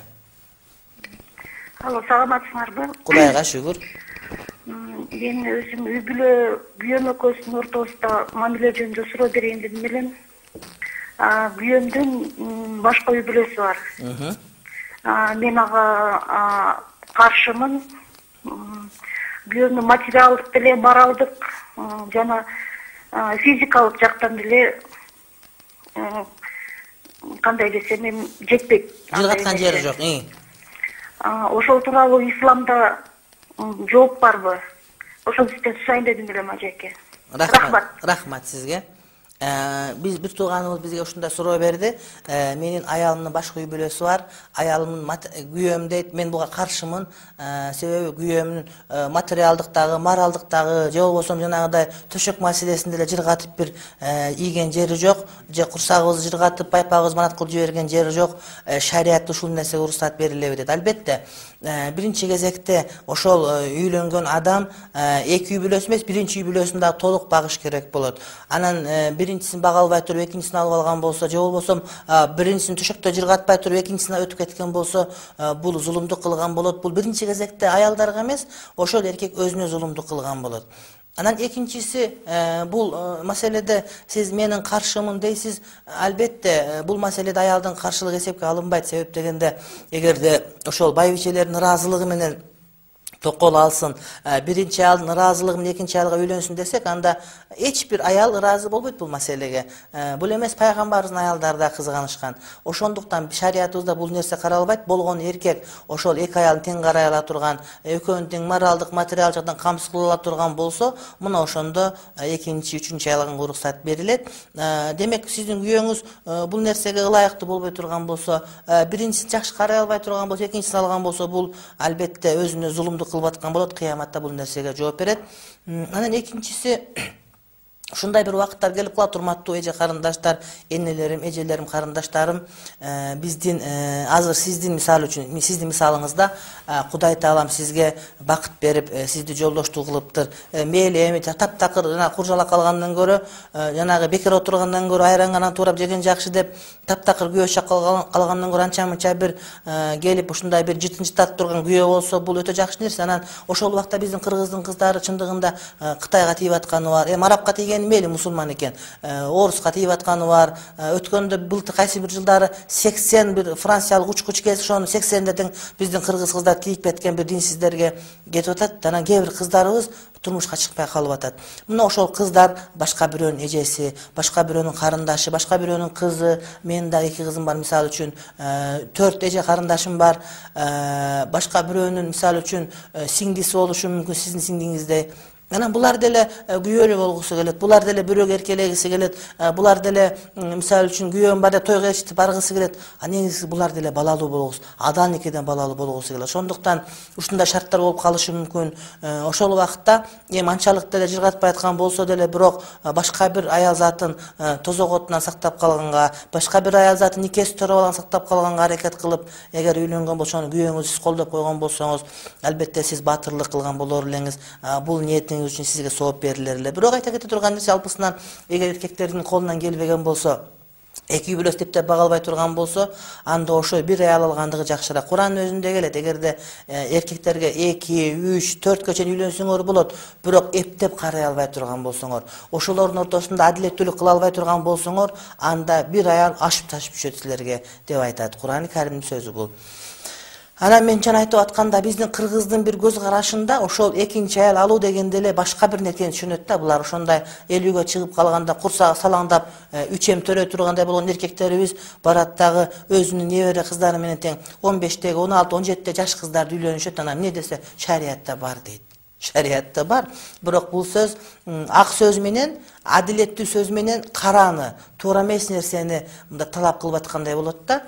Алло, саламатсыңарбы? Кудайга шүгүр. Мен өзүм үй бүлө күйөөм экөөбүздүн ортобузда мамиле жөнүндө суроо берейин дедим элем. Күйөөмдүн башка үй бүлөсү бар. Мен ага каршымын. күйөөнү материалдык деле, моралдык жана физикалык жактан деле кандай десем эми жетпейт. Жыргаткан жери жок. Ошол тууралуу исламда жооп барбы? Ошол сизден сурайын дедим эле ажеке. Рахмат сизге. Биз бир тууганыбыз бизге ушундай суроо берди. Менин аялымдын башка үй бүлөсү бар. Аялымдын күйөөм дейт, мен буга каршымын. Себеби күйөөмдүн материалдыктагы, моралдыктагы же болбосо жанагыдай төшөк маселесинде эле жыргатып бир ийген жери жок, же курсагыбызды жыргатып байпагыбызды манат кылып жиберген жери жок. Шариятта ушул нерсеге уруксат берилеби дейт. Албетте, биринчи кезекте ошол үйлөнгөн адам эки үй бүлөсү эмес, биринчи үй бүлөсүн дагы толук багыш керек болот. Анан биринчисин бага албай туруп экинчисин алып алган болсо, же болбосо биринчисин төшөктө жыргатпай туруп экинчисине өтүп кеткен болсо, бул зулумдук кылган болот. Бул биринчи кезекте аялдарга эмес, ошол эркек өзүнө зулумдук кылган болот. Анан экинчиси, бул маселеде сиз менин каршымын дейсиз. Албетте, бул маселеде аялдын каршылыгы эсепке алынбайт. Себеп дегенде, эгерде ошол байбичелердин ыраазылыгы менен токол алсын, биринчи аялдын ыраазылыгы менен экинчи аялга үйлөнсүн десек, анда эч бир аял ыраазы болбойт бул маселеге. Бул эмес, пайгамбарыбыздын аялдары да кызганышкан. Ошондуктан шариятыбызда бул нерсе каралбайт. Болгон эркек ошол эки аялын тең карай ала турган, экөөнүн тең моралдык, материалдык жактан камсыз кыла ала турган болсо, мына ошондо экинчи, үчүнчү аялга уруксат берилет. Демек, сиздин күйөөңүз бул нерсеге ылайыктуу болбой турган болсо, биринчисин жакшы карай албай турган болсо, экинчисин алган болсо, бул албетте өзүнө зулумдук кылып аткан болот. Кыяматта бул нерсеге жооп берет. Анан экинчиси, ушундай бир убакыттар келип калат, урматтуу эже карындаштар, энелерим, эжелерим, карындаштарым. Биздин азыр сиздин мисалы үчүн, сиздин мисалыңызда Кудай Таалам сизге бакыт берип, сизди жолдоштук кылыптыр. Мейли эми таптакыр жана куржалак калгандан көрө, жанагы бекер отургандан көрө, айранганан туурап жеген жакшы деп, таптакыр күйөө шак калгандан көрө анча-мынча бир келип ушундай бир жытын-жытат турган күйөө болсо, бул өтө жакшы нерсе. Анан ошол убакта биздин кыргыздын кыздары чындыгында Кытайга тиип атканы бар. Арабка тиген мейли мусулман экен, оруска тиип атканы бар. Өткөндө былтыр кайсы бир жылдары 80 бир франциялык учкуч келип, ошонун 80 тең биздин кыргыз кыздар тиип кеткен бир динсиздерге кетип атат. Анан кээ бир кыздарыбыз турмушка чыкпай калып атат. Мына ошол кыздар башка бирөөнүн эжеси, башка бирөөнүн карындашы, башка бирөөнүн кызы. Менин да эки кызым бар, мисалы үчүн 4 эже карындашым бар. Башка бирөөнүн мисалы үчүн сиңдиси болушу мүмкүн, сиздин сиңдиңиздей. Анан булар деле күйөөлүү болгусу келет, булар деле бирөөгө эркелегиси келет, булар деле мисалы үчүн күйөөм бар деп тойго ээрчитип баргысы келет. Негизи булар деле балалуу болгусу, адан никеден балалуу болгусу келет. Ошондуктан ушундай шарттар болуп калышы мүмкүн. Ошол убакытта эми анчалык деле жыргатпай аткан болсо деле, бирок башка бир аял затын тозоготунан сактап калганга, башка бир аял затын никеси төрөп алган сактап калганга аракет кылып, эгер үйлөнгөн болсо, күйөөңүздү сиз колдоп койгон болсоңуз, албетте сиз баатырлык кылган болор элеңиз. Бул ниетиңиз үчүн сизге сооп берилер эле. Бирок айта кете турган нерсе, алпысынан эгер эркектердин колунан келбеген болсо, эки үй бүлөс типтеп бага албай турган болсо, анда ошо бир аял алгандыгы жакшыраак. Курандын өзүндө келет, эгерде эркектерге 2, 3, 4 чейин үйлөнсөңөр болот, бирок эптеп карай албай турган болсоңор, ошолордун ортосунда адилеттүүлүк кыла албай турган болсоңор, анда бир аял ашып ташып түшөт силерге деп айтат. Куран-ы Каримдин сөзү бул. Анан мен жана айтып атканда, биздин кыргыздын бир көз карашында ошол экинчи аял алуу дегенде эле башка бир нерсени түшүнөт да. Булар ошондой эл үйгө чыгып калганда курсагы салаңдап, үчем төрөй тургандай болгон эркектерибиз барат дагы өзүнүн небере кыздары менен тең 15-теги, 16, 17 жаш кыздарды үйлөнүшөт. Анан эмне десе, шариятта бар дейт. Шариятта бар. Бирок бул сөз ак сөз менен, адилеттүү сөз менен караны, туура эмес нерсени мындай талап кылып аткандай болот да.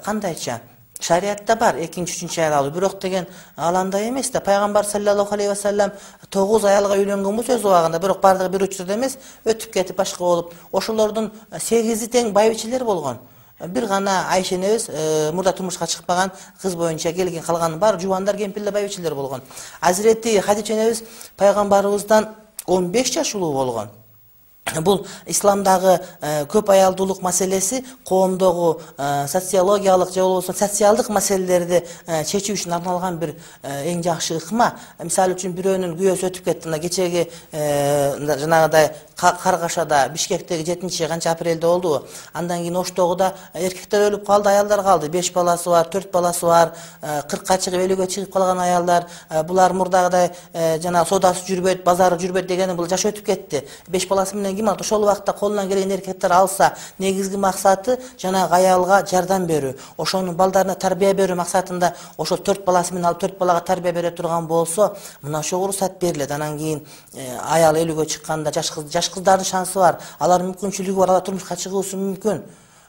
Кандайча? Шариятта бар экинчи, үчүнчү аял алуу. Бирок деген ал андай эмес да. Пайгамбар саллаллаху алейхи ва саллям 9 аялга үйлөнгөн сөз убагында, бирок бардыгы бир учурда эмес, өтүп кетип башка болуп, ошолордун 8 тең байбичелер болгон. Бир гана Айша энебиз мурда турмушка чыкпаган, кыз боюнча келген, калганын баары жубандар, кемпирлер, байбичелер болгон. Азирети Хадича энебиз пайгамбарыбыздан 15 жаш улуу болгон. Бул исламдагы көп аялдуулук маселеси коомдогу социологиялык же болбосо социалдык маселелерди чечүү үчүн арналган бир эң жакшы ыкма. Мисалы үчүн бирөөнүн күйөөсү өтүп кетти. Мына кечеги жанагыдай Каргашада, Бишкектеги 7 апрелде болдубу? Андан кийин Оштогу да эркектер өлүп калды, аялдар калды. 5 баласы бар, 4 баласы бар, 40ка чыгып 50ге чыгып калган аялдар. Булар мурдагыдай жана содасы жүрбөйт, базары жүрбөйт дегени бул жаш өтүп кетти. 5 баласы менен ким алат? Ошол убакта колунан келген эркектер алса, негизги максаты жанагы аялга жардам берүү. Ошонун балдарына тарбия берүү максатында ошол 4 баласы менен алып 4 балага тарбия бере турган болсо, мына ошого уруксат берилет. Анан кийин аял 50ге чыкканда жаш кыздардын шансы бар. Алар мүмкүнчүлүгү бар, алар турмушка чыгуусу мүмкүн.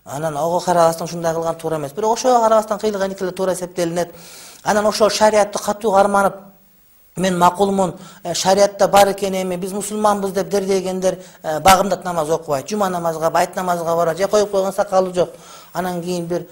Анан ого карабастан ушундай кылган туура эмес. Бирок ошого карабастан кыйылган эки эле туура эсептелинет. Анан ошол шариатты катуу карманып, мен макулмун, шариатта бар экен, эми биз мусулманбыз деп дердегендер багымдат намаз окубайт, жума намазга, байт намазга барат, же коюп койгон сакалы жок. Анан кийин бир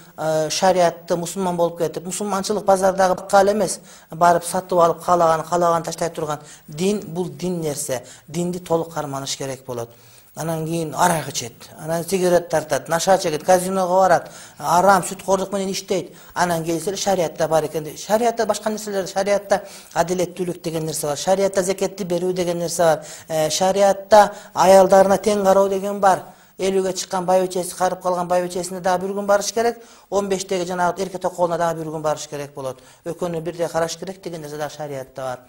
шариатты мусулман болуп кетип, мусулманчылык базардагы бакал эмес, барып сатып алып каалаган таштай турган. Дин бул дин нерсе. Динди толук карманыш керек болот. Анан кийин арак ичет, анан сигарет тартат, наша чегет, казиного барат, арам сүткордук менен иштейт. Анан келсе шариатта бар экен. Шариатта башка нерселер, шариатта адилеттүүлүк деген нерсе бар. Шариатта закетти берүү деген нерсе бар. Шариатта аялдарына тең кароо деген бар. 50ге чыккан байбичеси карып калган байбичесине дагы бир күн барыш керек. 15теги жанагы эрке токолуна дагы бир күн барыш керек болот. Экөөнү бирдей караш керек деген нерсе дагы шариатта бар.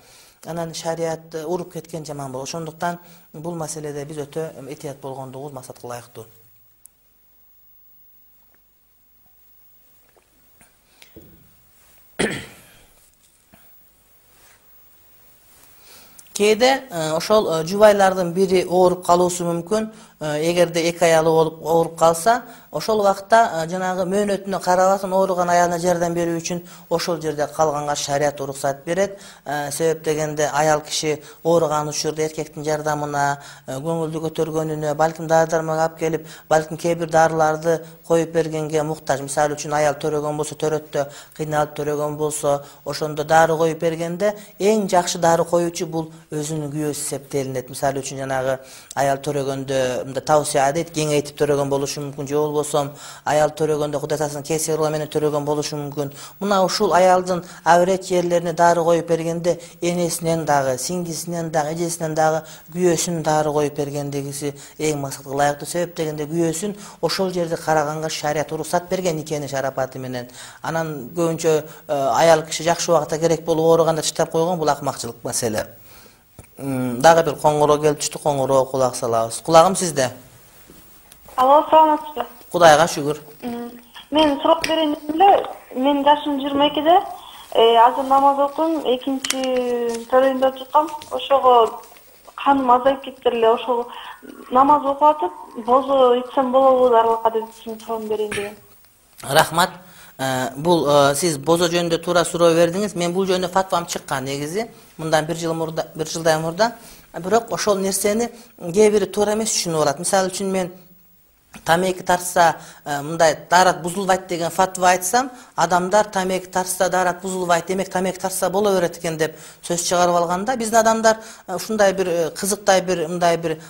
Анан шариат уруп кеткен жаман болот. Ошондуктан бул маселеде биз өтө этият болгондугубуз максатка ылайыктуу. Кээде ошол жубайлардын бири ооруп калуусу мүмкүн. Эгерде эки аялы болуп ооруп калса, ошол убакта жанагы мөөнөтүнө карабастан ооруган аялына жардам берүү үчүн ошол жерде калганга шариат уруксат берет. Себеп дегенде аял киши ооруган учурда эркектин жардамына, көңүлдү көтөргөнүнө, балким дары-дармак алып келип, балким кээ бир дарыларды коюп бергенге муктаж. Мисалы үчүн аял төрөгөн болсо, төрөттө кыйналып төрөгөн болсо, ошондо дары коюп бергенде эң жакшы дары коюучу бул өзүнүн күйөөсү эсептелинет. Мисалы үчүн жанагы аял төрөгөндө тавсия дейт, кеңейтип төрөгөн болушу мүмкүн, же болбосо аял төрөгөндө Кудай тасын кесирло менен төрөгөн болушу мүмкүн. Мына ушул аялдын аврет жерлерине дары коюп бергенде энесинен дагы, сиңдисинен дагы, эжесинен дагы күйөөсүнүн дары коюп бергендегиси эң максатка ылайыктуу. Себеп дегенде күйөөсүн ошол жерде караганга шариат уруксат берген никени шарапаты менен. Анан көбүнчө аял киши жакшы убакта керек болуп ооруганда таштап койгон, бул акмакчылык маселе. Дагы бир коңгуроо келип түштү, коңгуроого кулак салабыз. Кулагым сизде. Алло, саламатсызбы? Кудайга шүгүр. Мен сурап берейин дедим эле. Менин жашым 22-де. Азыр намаз окуйм, экинчи төрөйүндө чыккам. Ошого каным азайып кетти эле. Ошол намаз окуп атып, бозо ичсем болобу дарылыкка деп сурап берейин дегем. Рахмат. Бул сиз бозо жөнүндө туура суроо бердиңиз. Мен бул жөнүндө фатвам чыккан негизи. Мындан бир жылдай мурда. Бирок ошол нерсени кээ бири туура эмес түшүнүп алат. Мисалы үчүн мен тамеки тартса мындай даарат бузулбайт деген фатва айтсам, адамдар тамеки тартса даарат бузулбайт, демек тамеки тартса боло берет экен деп сөз чыгарып алганда, биздин адамдар ушундай бир кызыктай бир мындай бир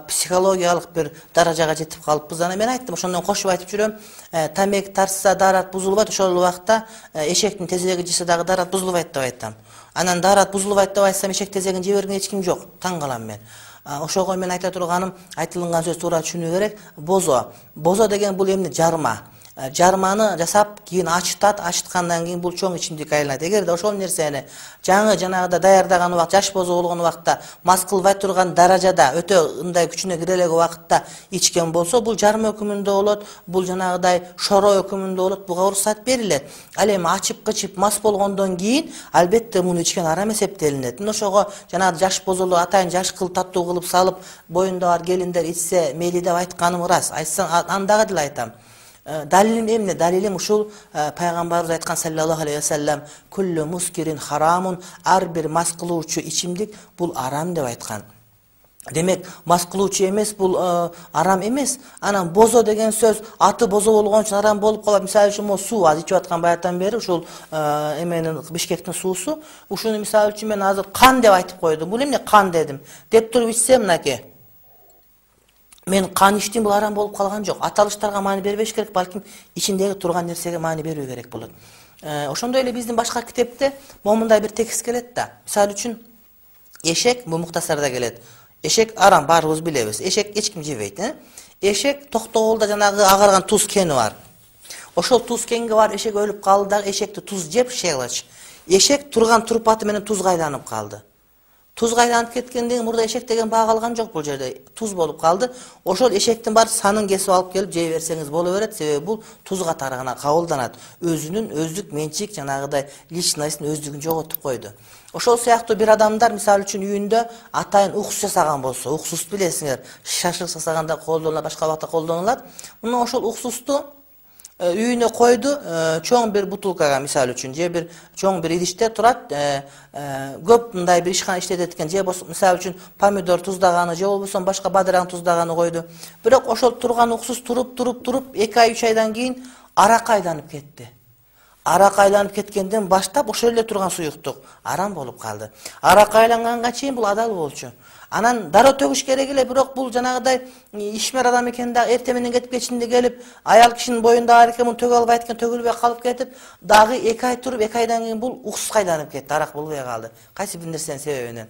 психологиялык бир даражага жетип калыппыз. Анан мен айттым, ошондон кошуп айтып жүрөм, тамеки тартса даарат бузулбайт, ошол убакта эшектин тезеги жесе дагы даарат бузулбайт деп айтам. Анан даарат бузулбайт деп айтсам, эшек тезегин жей берген эч ким жок. Таң калам мен. Ошого мен айта турганым, айтылган сөз туура түшүнүү керек. Бозо деген бул эмне? Жарма. Жарманы жасап, кийин ачытат, ачыткандан кийин бул чоң ичимдик айланат. Эгерде ошол нерсени жаңы жанагыда даярдаган убакта, жаш бозо болгон убакта, мас кылбай турган даражада, өтө ындай күчүнө кире элек убакытта ичкен болсо, бул жарма өкүмүндө болот, бул жанагыдай шоро өкүмүндө болот, буга уруксат берилет. Ал эми ачып кычып мас болгондон кийин албетте муну ичкен арам эсептелинет. Ошого жанагы жаш бозолор атайын жаш кылып таттуу кылып салып, боюнда бар келиндер ичсе мейли деп айтканым ырас. Айтсаң андагы деле айтам. Далилим эмне? Далилим ушул пайгамбарыбыз айткан саллаллаху алейхи вассалам, куллу мускирин харамун, ар бир мас кылуучу ичимдик бул арам деп айткан. Демек, мас кылуучу эмес, бул арам эмес. Анан бозо деген сөз аты бозо болгон үчүн арам болуп калат. Мисалы үчүн mo суу аз ичип аткан баягыдан бери ушул эменин Бишкектин суусу, ушуну мисалы үчүн мен азыр кан деп айтып койдум. Бул эмне кан дедим? Деп туруп ичсем мынакей. мен кан ичтим, бул арам болуп калган жок. Аталыштарга маани бербеш керек, балким ичиндеги турган нерсеге маани берүү керек болот. Ошондой эле биздин башка китепте момундай бир текст келет да. Мисалы үчүн эшек, бул муктасарда келет. Эшек арам, баарыбыз билебиз. Эшек эч ким жебейт, Эшек токтогулда жанагы агарган туз кени бар. Ошол туз кенге бар, эшек өлүп калды да, эшекти туз жеп шейлач. Эшек турган турпаты менен тузга айланып калды. Тузга айланып кеткенден кийин мурда эшек деген баа калган жок, бул жерде туз болуп калды. Ошол эшектин бар санын кесип алып келип жей берсеңиз боло берет, себеби бул туз катарына кабылданат. Өзүнүн өздүк менчик жанагыдай личностун өздүгүн жоготуп койду. Ошол сыяктуу бир адамдар мисалы үчүн үйүндө атайын уксус жасаган болсо, уксус билесиңер, шашлык жасаганда колдонулат, башка убакта колдонулат. Мына ошол уксусту үйүнө койду, чоң бир бутылкага мисалы үчүн, же бир чоң бир идиште турат, көп мындай бир ишкана иштетет экен, же болсо мисалы үчүн помидор туздаганы, же болбосо башка бадыраң туздаганы койду. Бирок ошол турган уксус туруп 2 ай 3 айдан кийин аракка айланып кетти. Аракка айланып кеткенден баштап ошол эле турган суюктук арам болуп калды. Аракка айланганга чейин бул адал болчу. Анан дароо төгүш керек эле, бирок бул жанагыдай ишмер адам экен да, эртең менен кетип кечинде келип, аял кишинин боюнда бар экен, муну төгө албайт экен, төгүлбөй калып кетип, дагы 2 ай туруп, 2 айдан кийин бул уксус айланып кетти, арак болбой калды. Кайсы бир нерсенин себебинен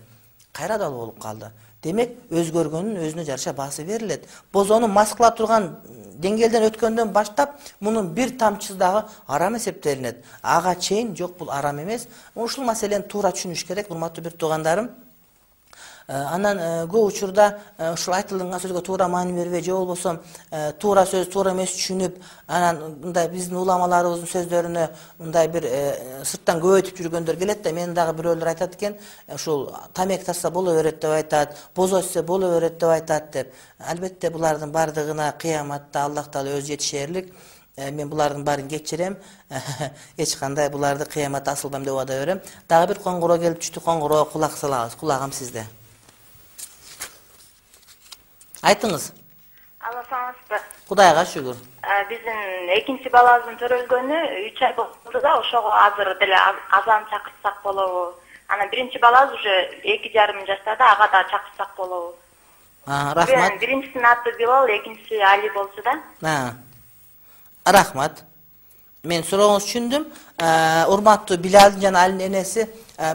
кайра дал болуп калды. Демек, өзгөргөндүн өзүнө жараша баасы берилет. Бозону мас кыла турган деңгээлден өткөндөн баштап, мунун бир тамчысы дагы арам эсептелинет. Ага чейин жок, бул арам эмес. Ушул маселени туура түшүнүш керек, урматтуу бир туугандарым. Анан көп учурда ушул айтылган сөзгө туура маани бербей, же болбосо туура сөз туура эмес түшүнүп, анан мындай биздин уламаларыбыздын сөздөрүнө мындай бир сырттан көбөйтүп жүргөндөр келет да, мен дагы бирөөлөр айтат экен, ушул тамек тартса боло берет деп айтат, боз ичсе боло берет деп айтат деп. Албетте булардын бардыгына кыяматта Аллах Таала өзү жетишерлик. Мен булардын баарын кечирем. Эч кандай буларды кыяматта асылбайм деп убада берем. Дагы бир коңгуроо келип түштү, коңгуроого кулак салабыз. Кулагым сизде. Айтыңыз. Алла саламатсызбы? Кудайга шүгүр. Биздин экинчи балабыздын төрөлгөнү 3 ай болду да, ошого азыр деле азан чакырсак болобу? Анан биринчи балабыз уже 2,5 жаштада, ага да чакырсак болобу? Рахмат. Биринчисинин аты Билал, экинчиси Али болчу да. Рахмат. Мен сурооңузду түшүндүм. Урматтуу Билалдын жана Алинин энеси,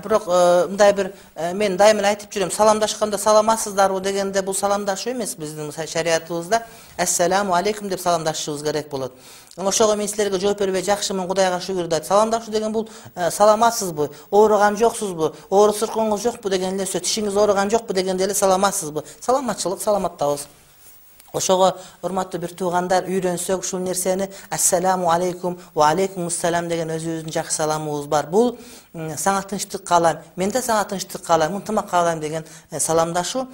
бирок мындай бир мен дайыма айтып жүрөм, саламдашканда саламатсыздарбы дегенде бул саламдашуу эмес биздин шариятыбызда. Ассаламу алейкум деп саламдашышыбыз керек болот. Ошого мен силерге жооп бербей, жакшымын, Кудайга шүгүр дейт. Саламдашуу деген бул саламатсызбы, ооруган жоксузбу, оору сыркооңуз жокпу деген эле сөз, тишиңиз ооруган жокпу дегенде эле саламатсызбы. Саламатчылык, саламаттабыз. Ошого урматтуу бир туугандар үйрөнсөк ушул нерсени ассаламу алейкум ва алейкумуссалам деген өзүбүздүн жакшы саламыбыз бар. Бул сага тынчтык каалайм, мен да сага тынчтык каалайм, ынтымак каалайм деген саламдашуу.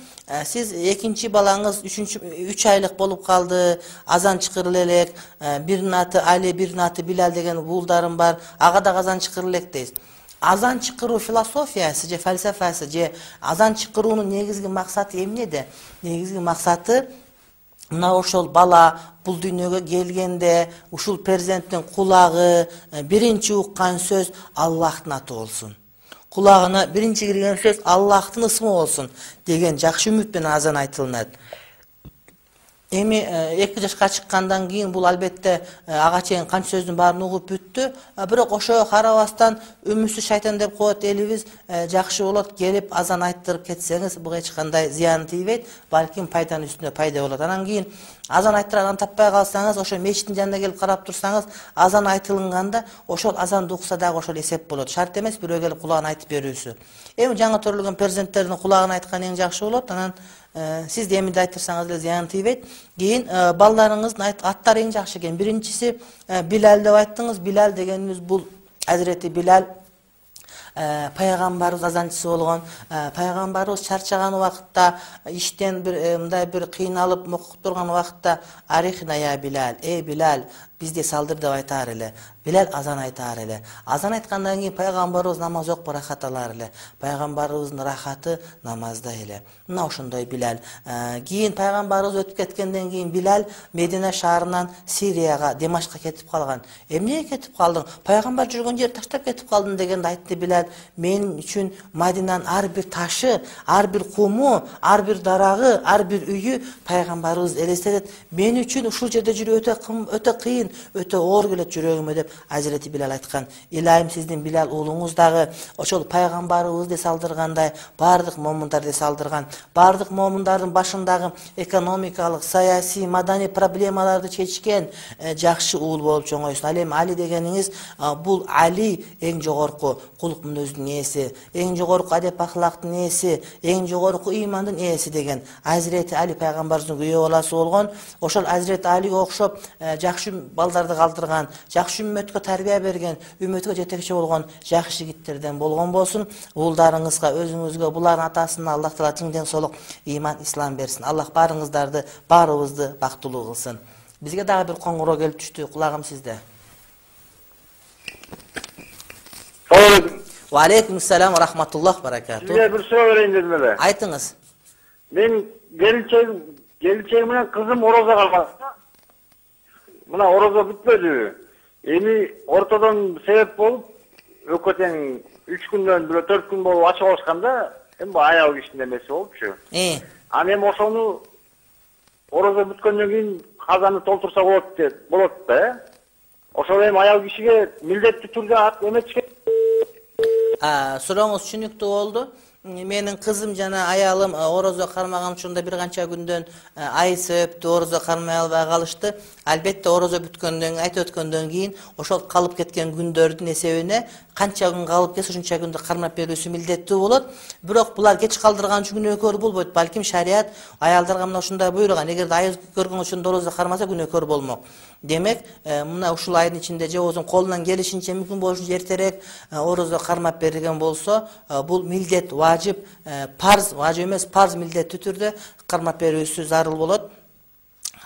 Сиз экинчи балаңыз 3 айлык болуп калды, азан чыкырыл элек, биринин аты Али, биринин аты Билал деген уулдарым бар, ага да азан чыкырыл элек дейсиз. Азан чыкыруу философиясы же фальсафасы же азан чыкыруунун негизги максаты эмнеде? Негизги максаты мына ошол бала бул дүйнөгө келгенде ушул перзенттин кулагы биринчи уккан сөз Аллахтын аты болсун. Кулагына биринчи кирген сөз Аллахтын ысмы болсун деген жакшы үмүт менен азан айтылынат. Эми 2 жашка чыккандан кийин бул албетте ага чейин канча сөздүн баарын угуп бүттү. Бирок ошого карабастан үмүтсүз шайтан деп коет элибиз, жакшы болот келип азан айттырып кетсеңиз, буга эч кандай зыян тийбейт, балким пайданын үстүнө пайда болот. Анан кийин азан айттырган таппай калсаңыз, ошо мечиттин жанына келип карап турсаңыз, азан айтылганда ошол азанды укса дагы ошол эсеп болот. Шарт эмес бирөө келип кулагына айтып берүүсү. Эми жаңы төрөлгөн перзенттердин кулагына айткан эң жакшы болот. Анан сиз эми да айтырсаңыз эле зыян тийбейт. Кийин балдарыңыздын аттары эң жакшы экен. Биринчиси Билал деп айттыңыз. Билал дегенибиз бул Азирети Билал пайгамбарыбыз азанчысы болгон. Пайгамбарыбыз чарчаган убакытта, иштен мындай бир кыйналып мокуп турган убакытта арихна я Билал, эй Билал, бизде салдыр деп айтаар эле. Билал азан айтаар эле. Азан айткандан кийин пайгамбарыбыз намаз окуп рахат алар эле. Пайгамбарыбыздын рахаты намазда эле. Мына ошондой Билал. Кийин пайгамбарыбыз өтүп кеткенден кийин Билал Медина шаарынан Сирияга, Димашка кетип калган. Эмнеге кетип калдың? Пайгамбар жүргөн жерди таштап кетип калдың дегенде айтты Билал, мен үчүн Мадинанын ар бир ташы, ар бир куму, ар бир дарагы, ар бир үйү пайгамбарыбыз элестетет. Мен үчүн ушул жерде жүрүү өтө кыйын, өтө оор келет жүрөгүмө деп Азирети Билал айткан. Илайым сиздин Билал уулуңуз дагы ошол пайгамбарыбызды салдыргандай бардык момундарды салдырган. Бардык момундардын башындагы экономикалык, саясий, маданий проблемаларды чечкен жакшы уул болуп чоңойсун. Ал эми Али дегениңиз бул Али эң жогорку кулук мүнөздүн ээси, эң жогорку адеп ахлактын ээси, эң жогорку ыймандын ээси деген Азирети Али пайгамбарыбыздын күйөө баласы болгон. Ошол Азирети Алиге окшоп жакшы балдарды калтырган, жакшы үммөткө тарбия берген, үммөткө жетекчи болгон жакшы жигиттерден болгон болсун. Уулдарыңызга, өзүңүзгө, булардын атасына Аллах таала чың ден соолук, ыйман, ислам берсин. Аллах баарыңыздарды, баарыбызды бактылуу кылсын. Бизге дагы бир коңгуроо келип түштү. Кулагым сизде. Ва алейкум ассалам ва рахматуллах баракату. Сизге бир суроо берейин дедим эле. Айтыңыз. Мен келинчегим менен кызым орозо калган. Мына орозо бүтпөдү. Эми ортодон себеп болуп, экөө тең 3 күндөн бирөө 4 күн болуп ачып алышканда, эми аял кишинин эмеси болупчу. Аны эми ошону орозо бүткөндөн кийин казаны толтурса болот да. Ошол эми аял кишиге милдеттүү түрдө эметишке. Сурооңуз түшүнүктүү болду. Менин кызым жана аялым орозо кармаган учурунда бир канча күндөн ай себептүү орозо кармай албай калышты. Албетте орозо бүткөндөн, айтып өткөндөн кийин ошол калып кеткен күндөрдүн эсебине канча күн калып кетсе ошонча күндө кармап берүүсү милдеттүү болот. Бирок булар кеч калдырган үчүн күнөөкөр болбойт. Балким шарият аялдарга мына ушундай буйруган. Эгерде ай көргөн учурунда орозо кармаса күнөөкөр болмок. Демек, мына ушул айдын ичинде же өзүнүн колунан келишинче мүмкүн болушунча эртерээк орозо кармап берген болсо, бул милдет, важип, парз, важип эмес, парз милдеттүү түрдө кармап берүүсү зарыл болот.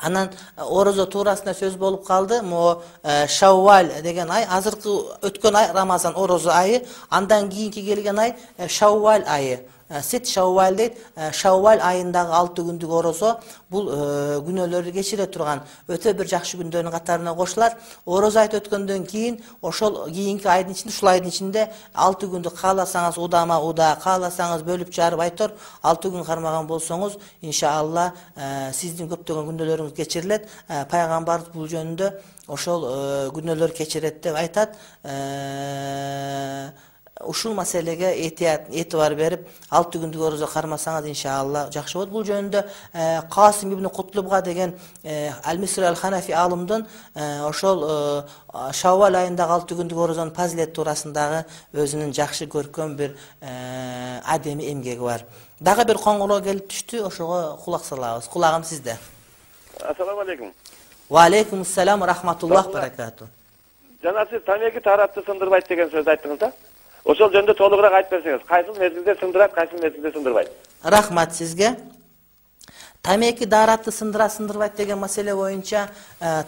Анан орозо туурасында сөз болуп калды. Мо Шаввал деген ай, азыркы өткөн ай Рамазан орозо айы, андан кийинки келген ай Шаввал айы. Сет Шаввал дейт. Шаввал айындагы 6 күндүк орозо бул күнөөлөрдү кечире турган өтө бир жакшы күндөрдүн катарына кошулат. Орозо айт өткөндөн кийин ошол кийинки айдын ичинде, ушул айдын ичинде 6 күндү кааласаңыз удама уда, кааласаңыз бөлүп жарып айтор, 6 күн кармаган болсоңуз, иншалла сиздин көптөгөн күнөөлөрүңүз кечирилет. Пайгамбар бул жөнүндө ошол күнөөлөр кечирет деп айтат. Ушул маселеге этибар берип, 6 күндүк орозо кармасаңыз иншалла жакшы болот. Бул жөнүндө Касим ибн Кутлубга деген Ал-Мисри Ал-Ханафи алымдын ошол Шаввал айындагы 6 күндүк орозонун фазилети туурасындагы өзүнүн жакшы көркөм бир адеми эмгеги бар. Дагы бир коңгуроо келип түштү, ошого кулак салабыз. Кулагым сизде. Ассаламу алейкум. Ва алейкум ассалам ва рахматуллах баракату. Жана сиз тамеки таратты сындырбайт деген сөздү айттыңыз да? Ошол жөнүндө толугураак айтып берсеңиз, кайсыл мезгилде сындырат, кайсыл мезгилде сындырбайт? Рахмат сизге. Тамеки daaratты сындырбайт деген маселе боюнча,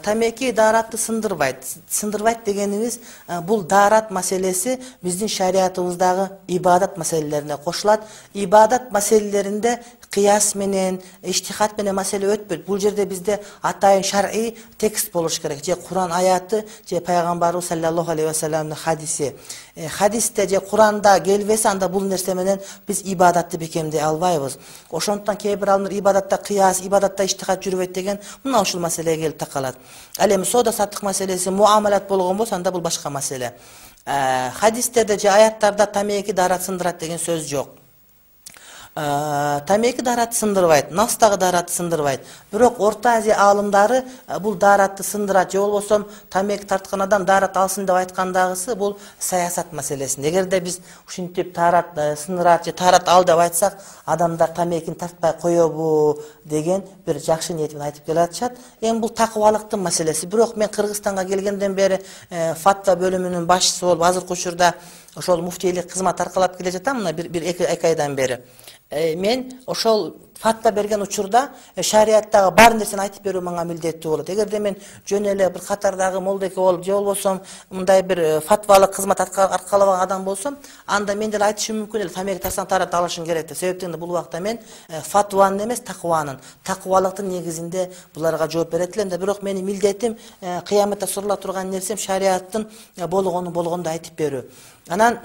тамеки daaratты сындырбайт дегенибиз бул daarat маселеси биздин шариятыбыздагы ибадат маселелерине кошулат. Ибадат маселелеринде кыяс менен, иштихат менен маселе өтпөйт. Бул жерде бизде атайын шар'ий текст болуш керек. Же Куран аяты, же пайгамбарыбыз саллаллаху алейхи ва салламдын хадиси. Хадисте же Куранда келбесе, анда бул нерсе менен биз ибадатты бекемдей албайбыз. Ошондуктан кээ бир адамдар ибадатта кыяс, ибадатта иштихат жүрбөйт деген мына ушул маселеге келип такалат. Ал эми соода саттык маселеси, муамалат болгон болсо, анда бул башка маселе. Хадистерде же аяттарда тамеки daarat сындырат деген сөз жок. Тамеки daarat сындырбайт, настагы daarat сындырбайт. Бирок Орто Азия аалымдары бул daaratты сындырат, же болбосо тамеки тарткан адам daarat алсын деп айткандагысы бул саясат маселеси. Эгерде биз ушинтип daarat сындырат же daarat ал деп айтсак, адамдар тамекини тартпай коёбу деген бир жакшы ниет менен айтып келатышат. Эми бул такыбалыктын маселеси. Бирок мен Кыргызстанга келгенден бери фатва бөлүмүнүн башчысы болуп, азыркы учурда ошол муфтийлик кызмат аркалап келе жатам, мына бир 2 айдан бери. Мен ошол фатва берген учурда шариаттагы бар нерсени айтып берүү мага милдеттүү болот. Эгерде мен жөн эле бир катардагы молдеке болуп же болбосом мындай бир фатвалык кызмат аркалабаган адам болсом, анда мен деле айтышым мүмкүн эле тамеки тартсаң тарат алышың керек деп. Себептен бул убакта мен фатванын эмес, таквалыктын негизинде буларга жооп берет элем да. Бирок менин милдетим кыяматта сурула турган нерсем шариаттын болгондой айтып берүү. Анан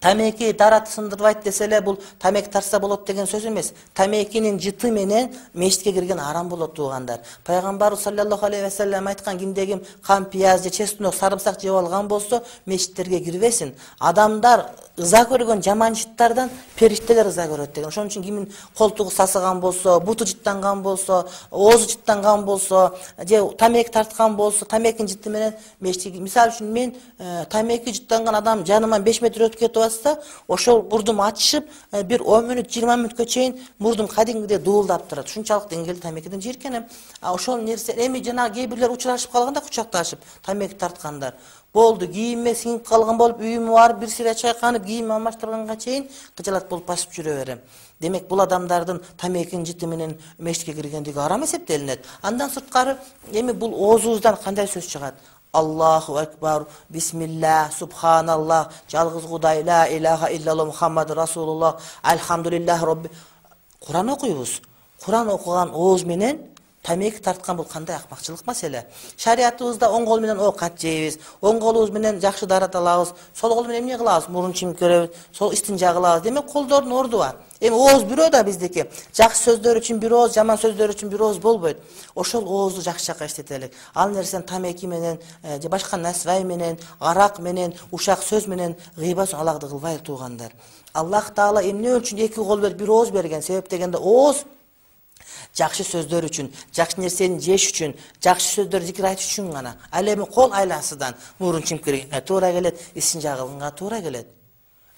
тамеки дарат сындырбайт десе эле бул тамеки тартса болот деген сөз эмес. Тамекинин жыты менен мешитке кирген арам болот туугандар. Пайгамбарыбыз саллаллаху алейхи ва саллям айткан, кимдеги кам, пияз же чеснок, сарымсак жеп алган болсо мешиттерге кирбесин. Адамдар ыза көргөн жаман жыттардан периштелер ыза көрөт деген. Ошон үчүн кимин колтугу сасыган болсо, буту жыттанган болсо, оозу жыттанган болсо, же тамеки тарткан болсо, тамекинин жыты менен мешитке, мисалы үчүн мен тамеки жыттанган адам жаныман 5 метр өтүп кетип атса, ошол мурдум ачышып, бир 10 мүнөт, 20 мүнөткө чейин мурдум кадимгидей дуулдап турат. Ушунчалык деңгээлде тамекиден жийиркенем. Ошол нерсе эми жана кээ бирлер учурашып калганда кучакташып тамеки тарткандар. Болду, кийиме сиңип калган болуп, үйүмө барып бир сыйра чайканып, кийим алмаштырганга чейин кыжалат болуп басып жүрө берем. Демек бул адамдардын тамекинин жыты менен мешитке киргендиги арам эсептелинет. Андан сырткары эми бул оозубуздан кандай сөз чыгат? Аллаху акбар, бисмилlah, субханаллах, жалгыз Кудай, ла илаха иллаллах, Мухаммад расулуллах, альхамдулиллах робби. Куран окуйбуз. Куран окуган ооз менен тамеки тарткан бул кандай акмакчылык маселе. Шариятыбызда оң кол менен оокат жейбиз, оң колубуз менен жакшы дарат алабыз, сол кол менен эмне кылабыз? Мурун чимкөрөбүз, сол истинжа кылабыз. Демек колдордун орду бар. Эми ооз бирөө да биздики. Жакшы сөздөр үчүн бир ооз, жаман сөздөр үчүн бир ооз болбойт. Ошол оозду жакшы жака иштетелик. Ал нерсени тамеки менен же башка насвай менен, арак менен, ушак сөз менен гыйбат алакты кылбайлы туугандар. Аллах Таала эмне үчүн эки кол берип бир ооз берген? Себеп дегенде ооз жакшы сөздөр үчүн, жакшы нерсени жеш үчүн, жакшы сөздөр зикир айтыш үчүн гана. Ал эми кол айласыдан мурун чимкиргенге туура келет, исинжа кылганга туура келет.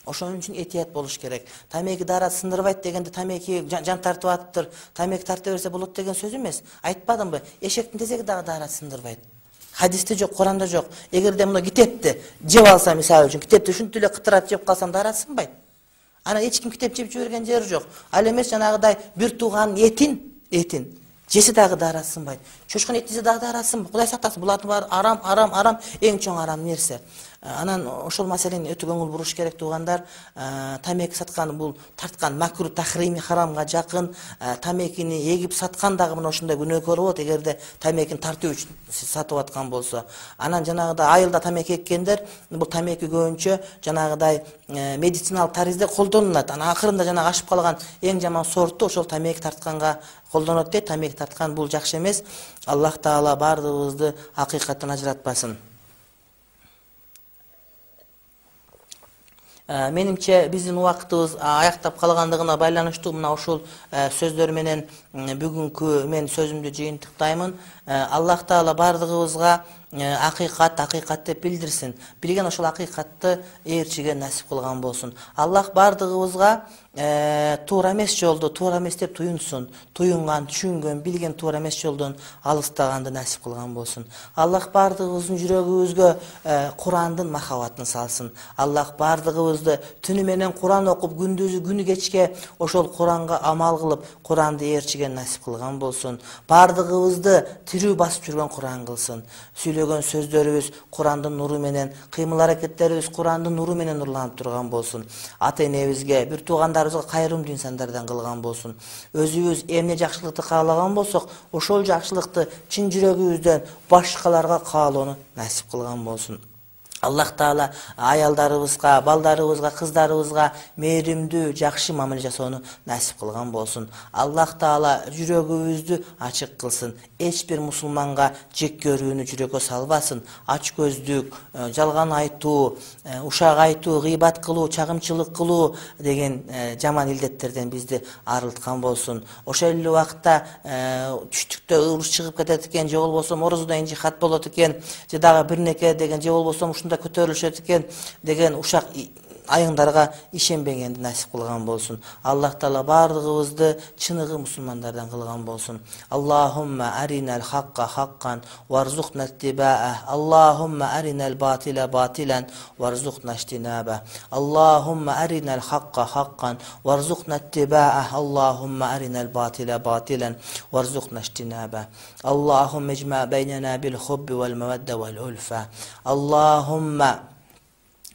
Ошон үчүн этият болуш керек. Тамеки дарат сындырбайт дегенде тамеки жан тартып атыптыр, тамеки тарта берсе болот деген сөз эмес. Айтпадымбы? Эшектин тезеги дагы дарат сындырбайт. Хадисте жок, Куранда жок. Эгерде муну китепти жеп алса, мисалы үчүн китепти ушинтип эле кытырат жеп калсам дарат сынбайт. Анан эч ким китеп жеп жиберген жери жок. Ал эмес жанагыдай бир тууганын этин жесе дагы дарат сынбайт. Чочкун этисе дагы дарат сынбайт. Кудай сактасын, булардын баары арам, эң чоң арам нерсе. Анан ошол маселени өтө көңүл буруш керек туугандар. Тамеки саткан бул тарткан макруh тахрими харамга жакын. Тамекини эгип саткан дагы мына ошондой күнөөкөр болот, эгерде тамекини тартуу үчүн сатып аткан болсо. Анан жанагыдай айылда тамеки эккендер, бул тамеки көбүнчө жанагыдай медициналык таризде колдонулат. Анан акырында жанагы ашып калган эң жаман сорту ошол тамеки тартканга колдонот дейт. Тамеки тарткан бул жакшы эмес. Аллах Таала бардыгыбызды акыйкаттан ажыратпасын. Менимче биздин убактыбыз аяктап калгандыгына байланыштуу мына ушул сөздөр менен бүгүнкү мен сөзүмдү жыйынтыктаймын. Аллах Таала бардыгыбызга акыйкат деп билдирсин. Билген ошол акыйкатты ээрчиге насип кылган болсун. Аллах бардыгыбызга туура эмес жолду туура эмес деп туюнсун. Туюнган, түшүнгөн, билген туура эмес жолдон алыстаганды насип кылган болсун. Аллах бардыгыбыздын жүрөгүбүзгө Курандын махабатын салсын. Аллах бардыгыбызды түнү менен Куран окуп, күндүзү күнү кечке ошол Куранга амал кылып, Куранды ээрчиге насип кылган болсун. Бардыгыбызды тирүү басып жүргөн Куран кылсын. Сүйлөгөн сөздөрүбүз Курандын нуру менен, кыймыл аракеттерибиз Курандын нуру менен нурланып турган болсун. Ата энебизге, бир туугандарыбызга кайрымдуу инсандардан кылган болсун. Өзүбүз эмне жакшылыкты каалаган болсок, ошол жакшылыкты чын жүрөгүбүздөн башкаларга каалоону насип кылган болсун. Аллах Таала аялдарыбызга, балдарыбызга, кыздарыбызга мээримдүү, жакшы мамиле жасоону насип кылган болсун. Аллах Таала жүрөгүбүздү ачык кылсын. Эч бир мусулманга жек көрүүнү жүрөккө салбасын. Ач көздүк, жалган айтуу, ушак айтуу, гыйбат кылуу, чагымчылык кылуу деген жаман илдеттерден бизди арылткан болсун. Ошол эле убакта түштүктө ыбырыш чыгып кетет экен, же болбосо морозодон жихат болот экен, же дагы бир неке деген, же болбосо ушунда көтөрүлүшөт экен деген ушак айыңдарга ишенбегенди насип кылган болсун. Аллах Таала бардыгыбызды чыныгы мусулмандардан кылган болсун. Аллахумма аринал хакка хаккан варзукна иттиба'ah. Аллахумма аринал батила батилан варзукна иштинаба. Аллахумма аринал хакка хаккан варзукна иттиба'ah. Аллахумма аринал батила батилан варзукна иштинаба. Аллахумма اجمع بيننا بالحب والمودة والألفة. اللهم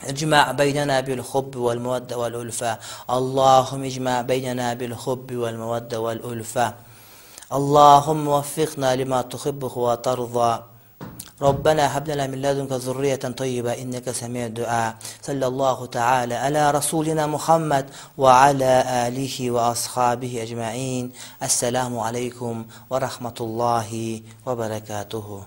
اجمع بيننا بالحب والمودة والألفة. اللهم اجمع بيننا بالحب والمودة والألفة. اللهم وفقنا لما تحبه وترضى. ربنا هب لنا من لدنك ذرية طيبة إنك سميع الدعاء. صلى الله تعالى على رسولنا محمد وعلى آله وأصحابه أجمعين. السلام عليكم ورحمة الله وبركاته.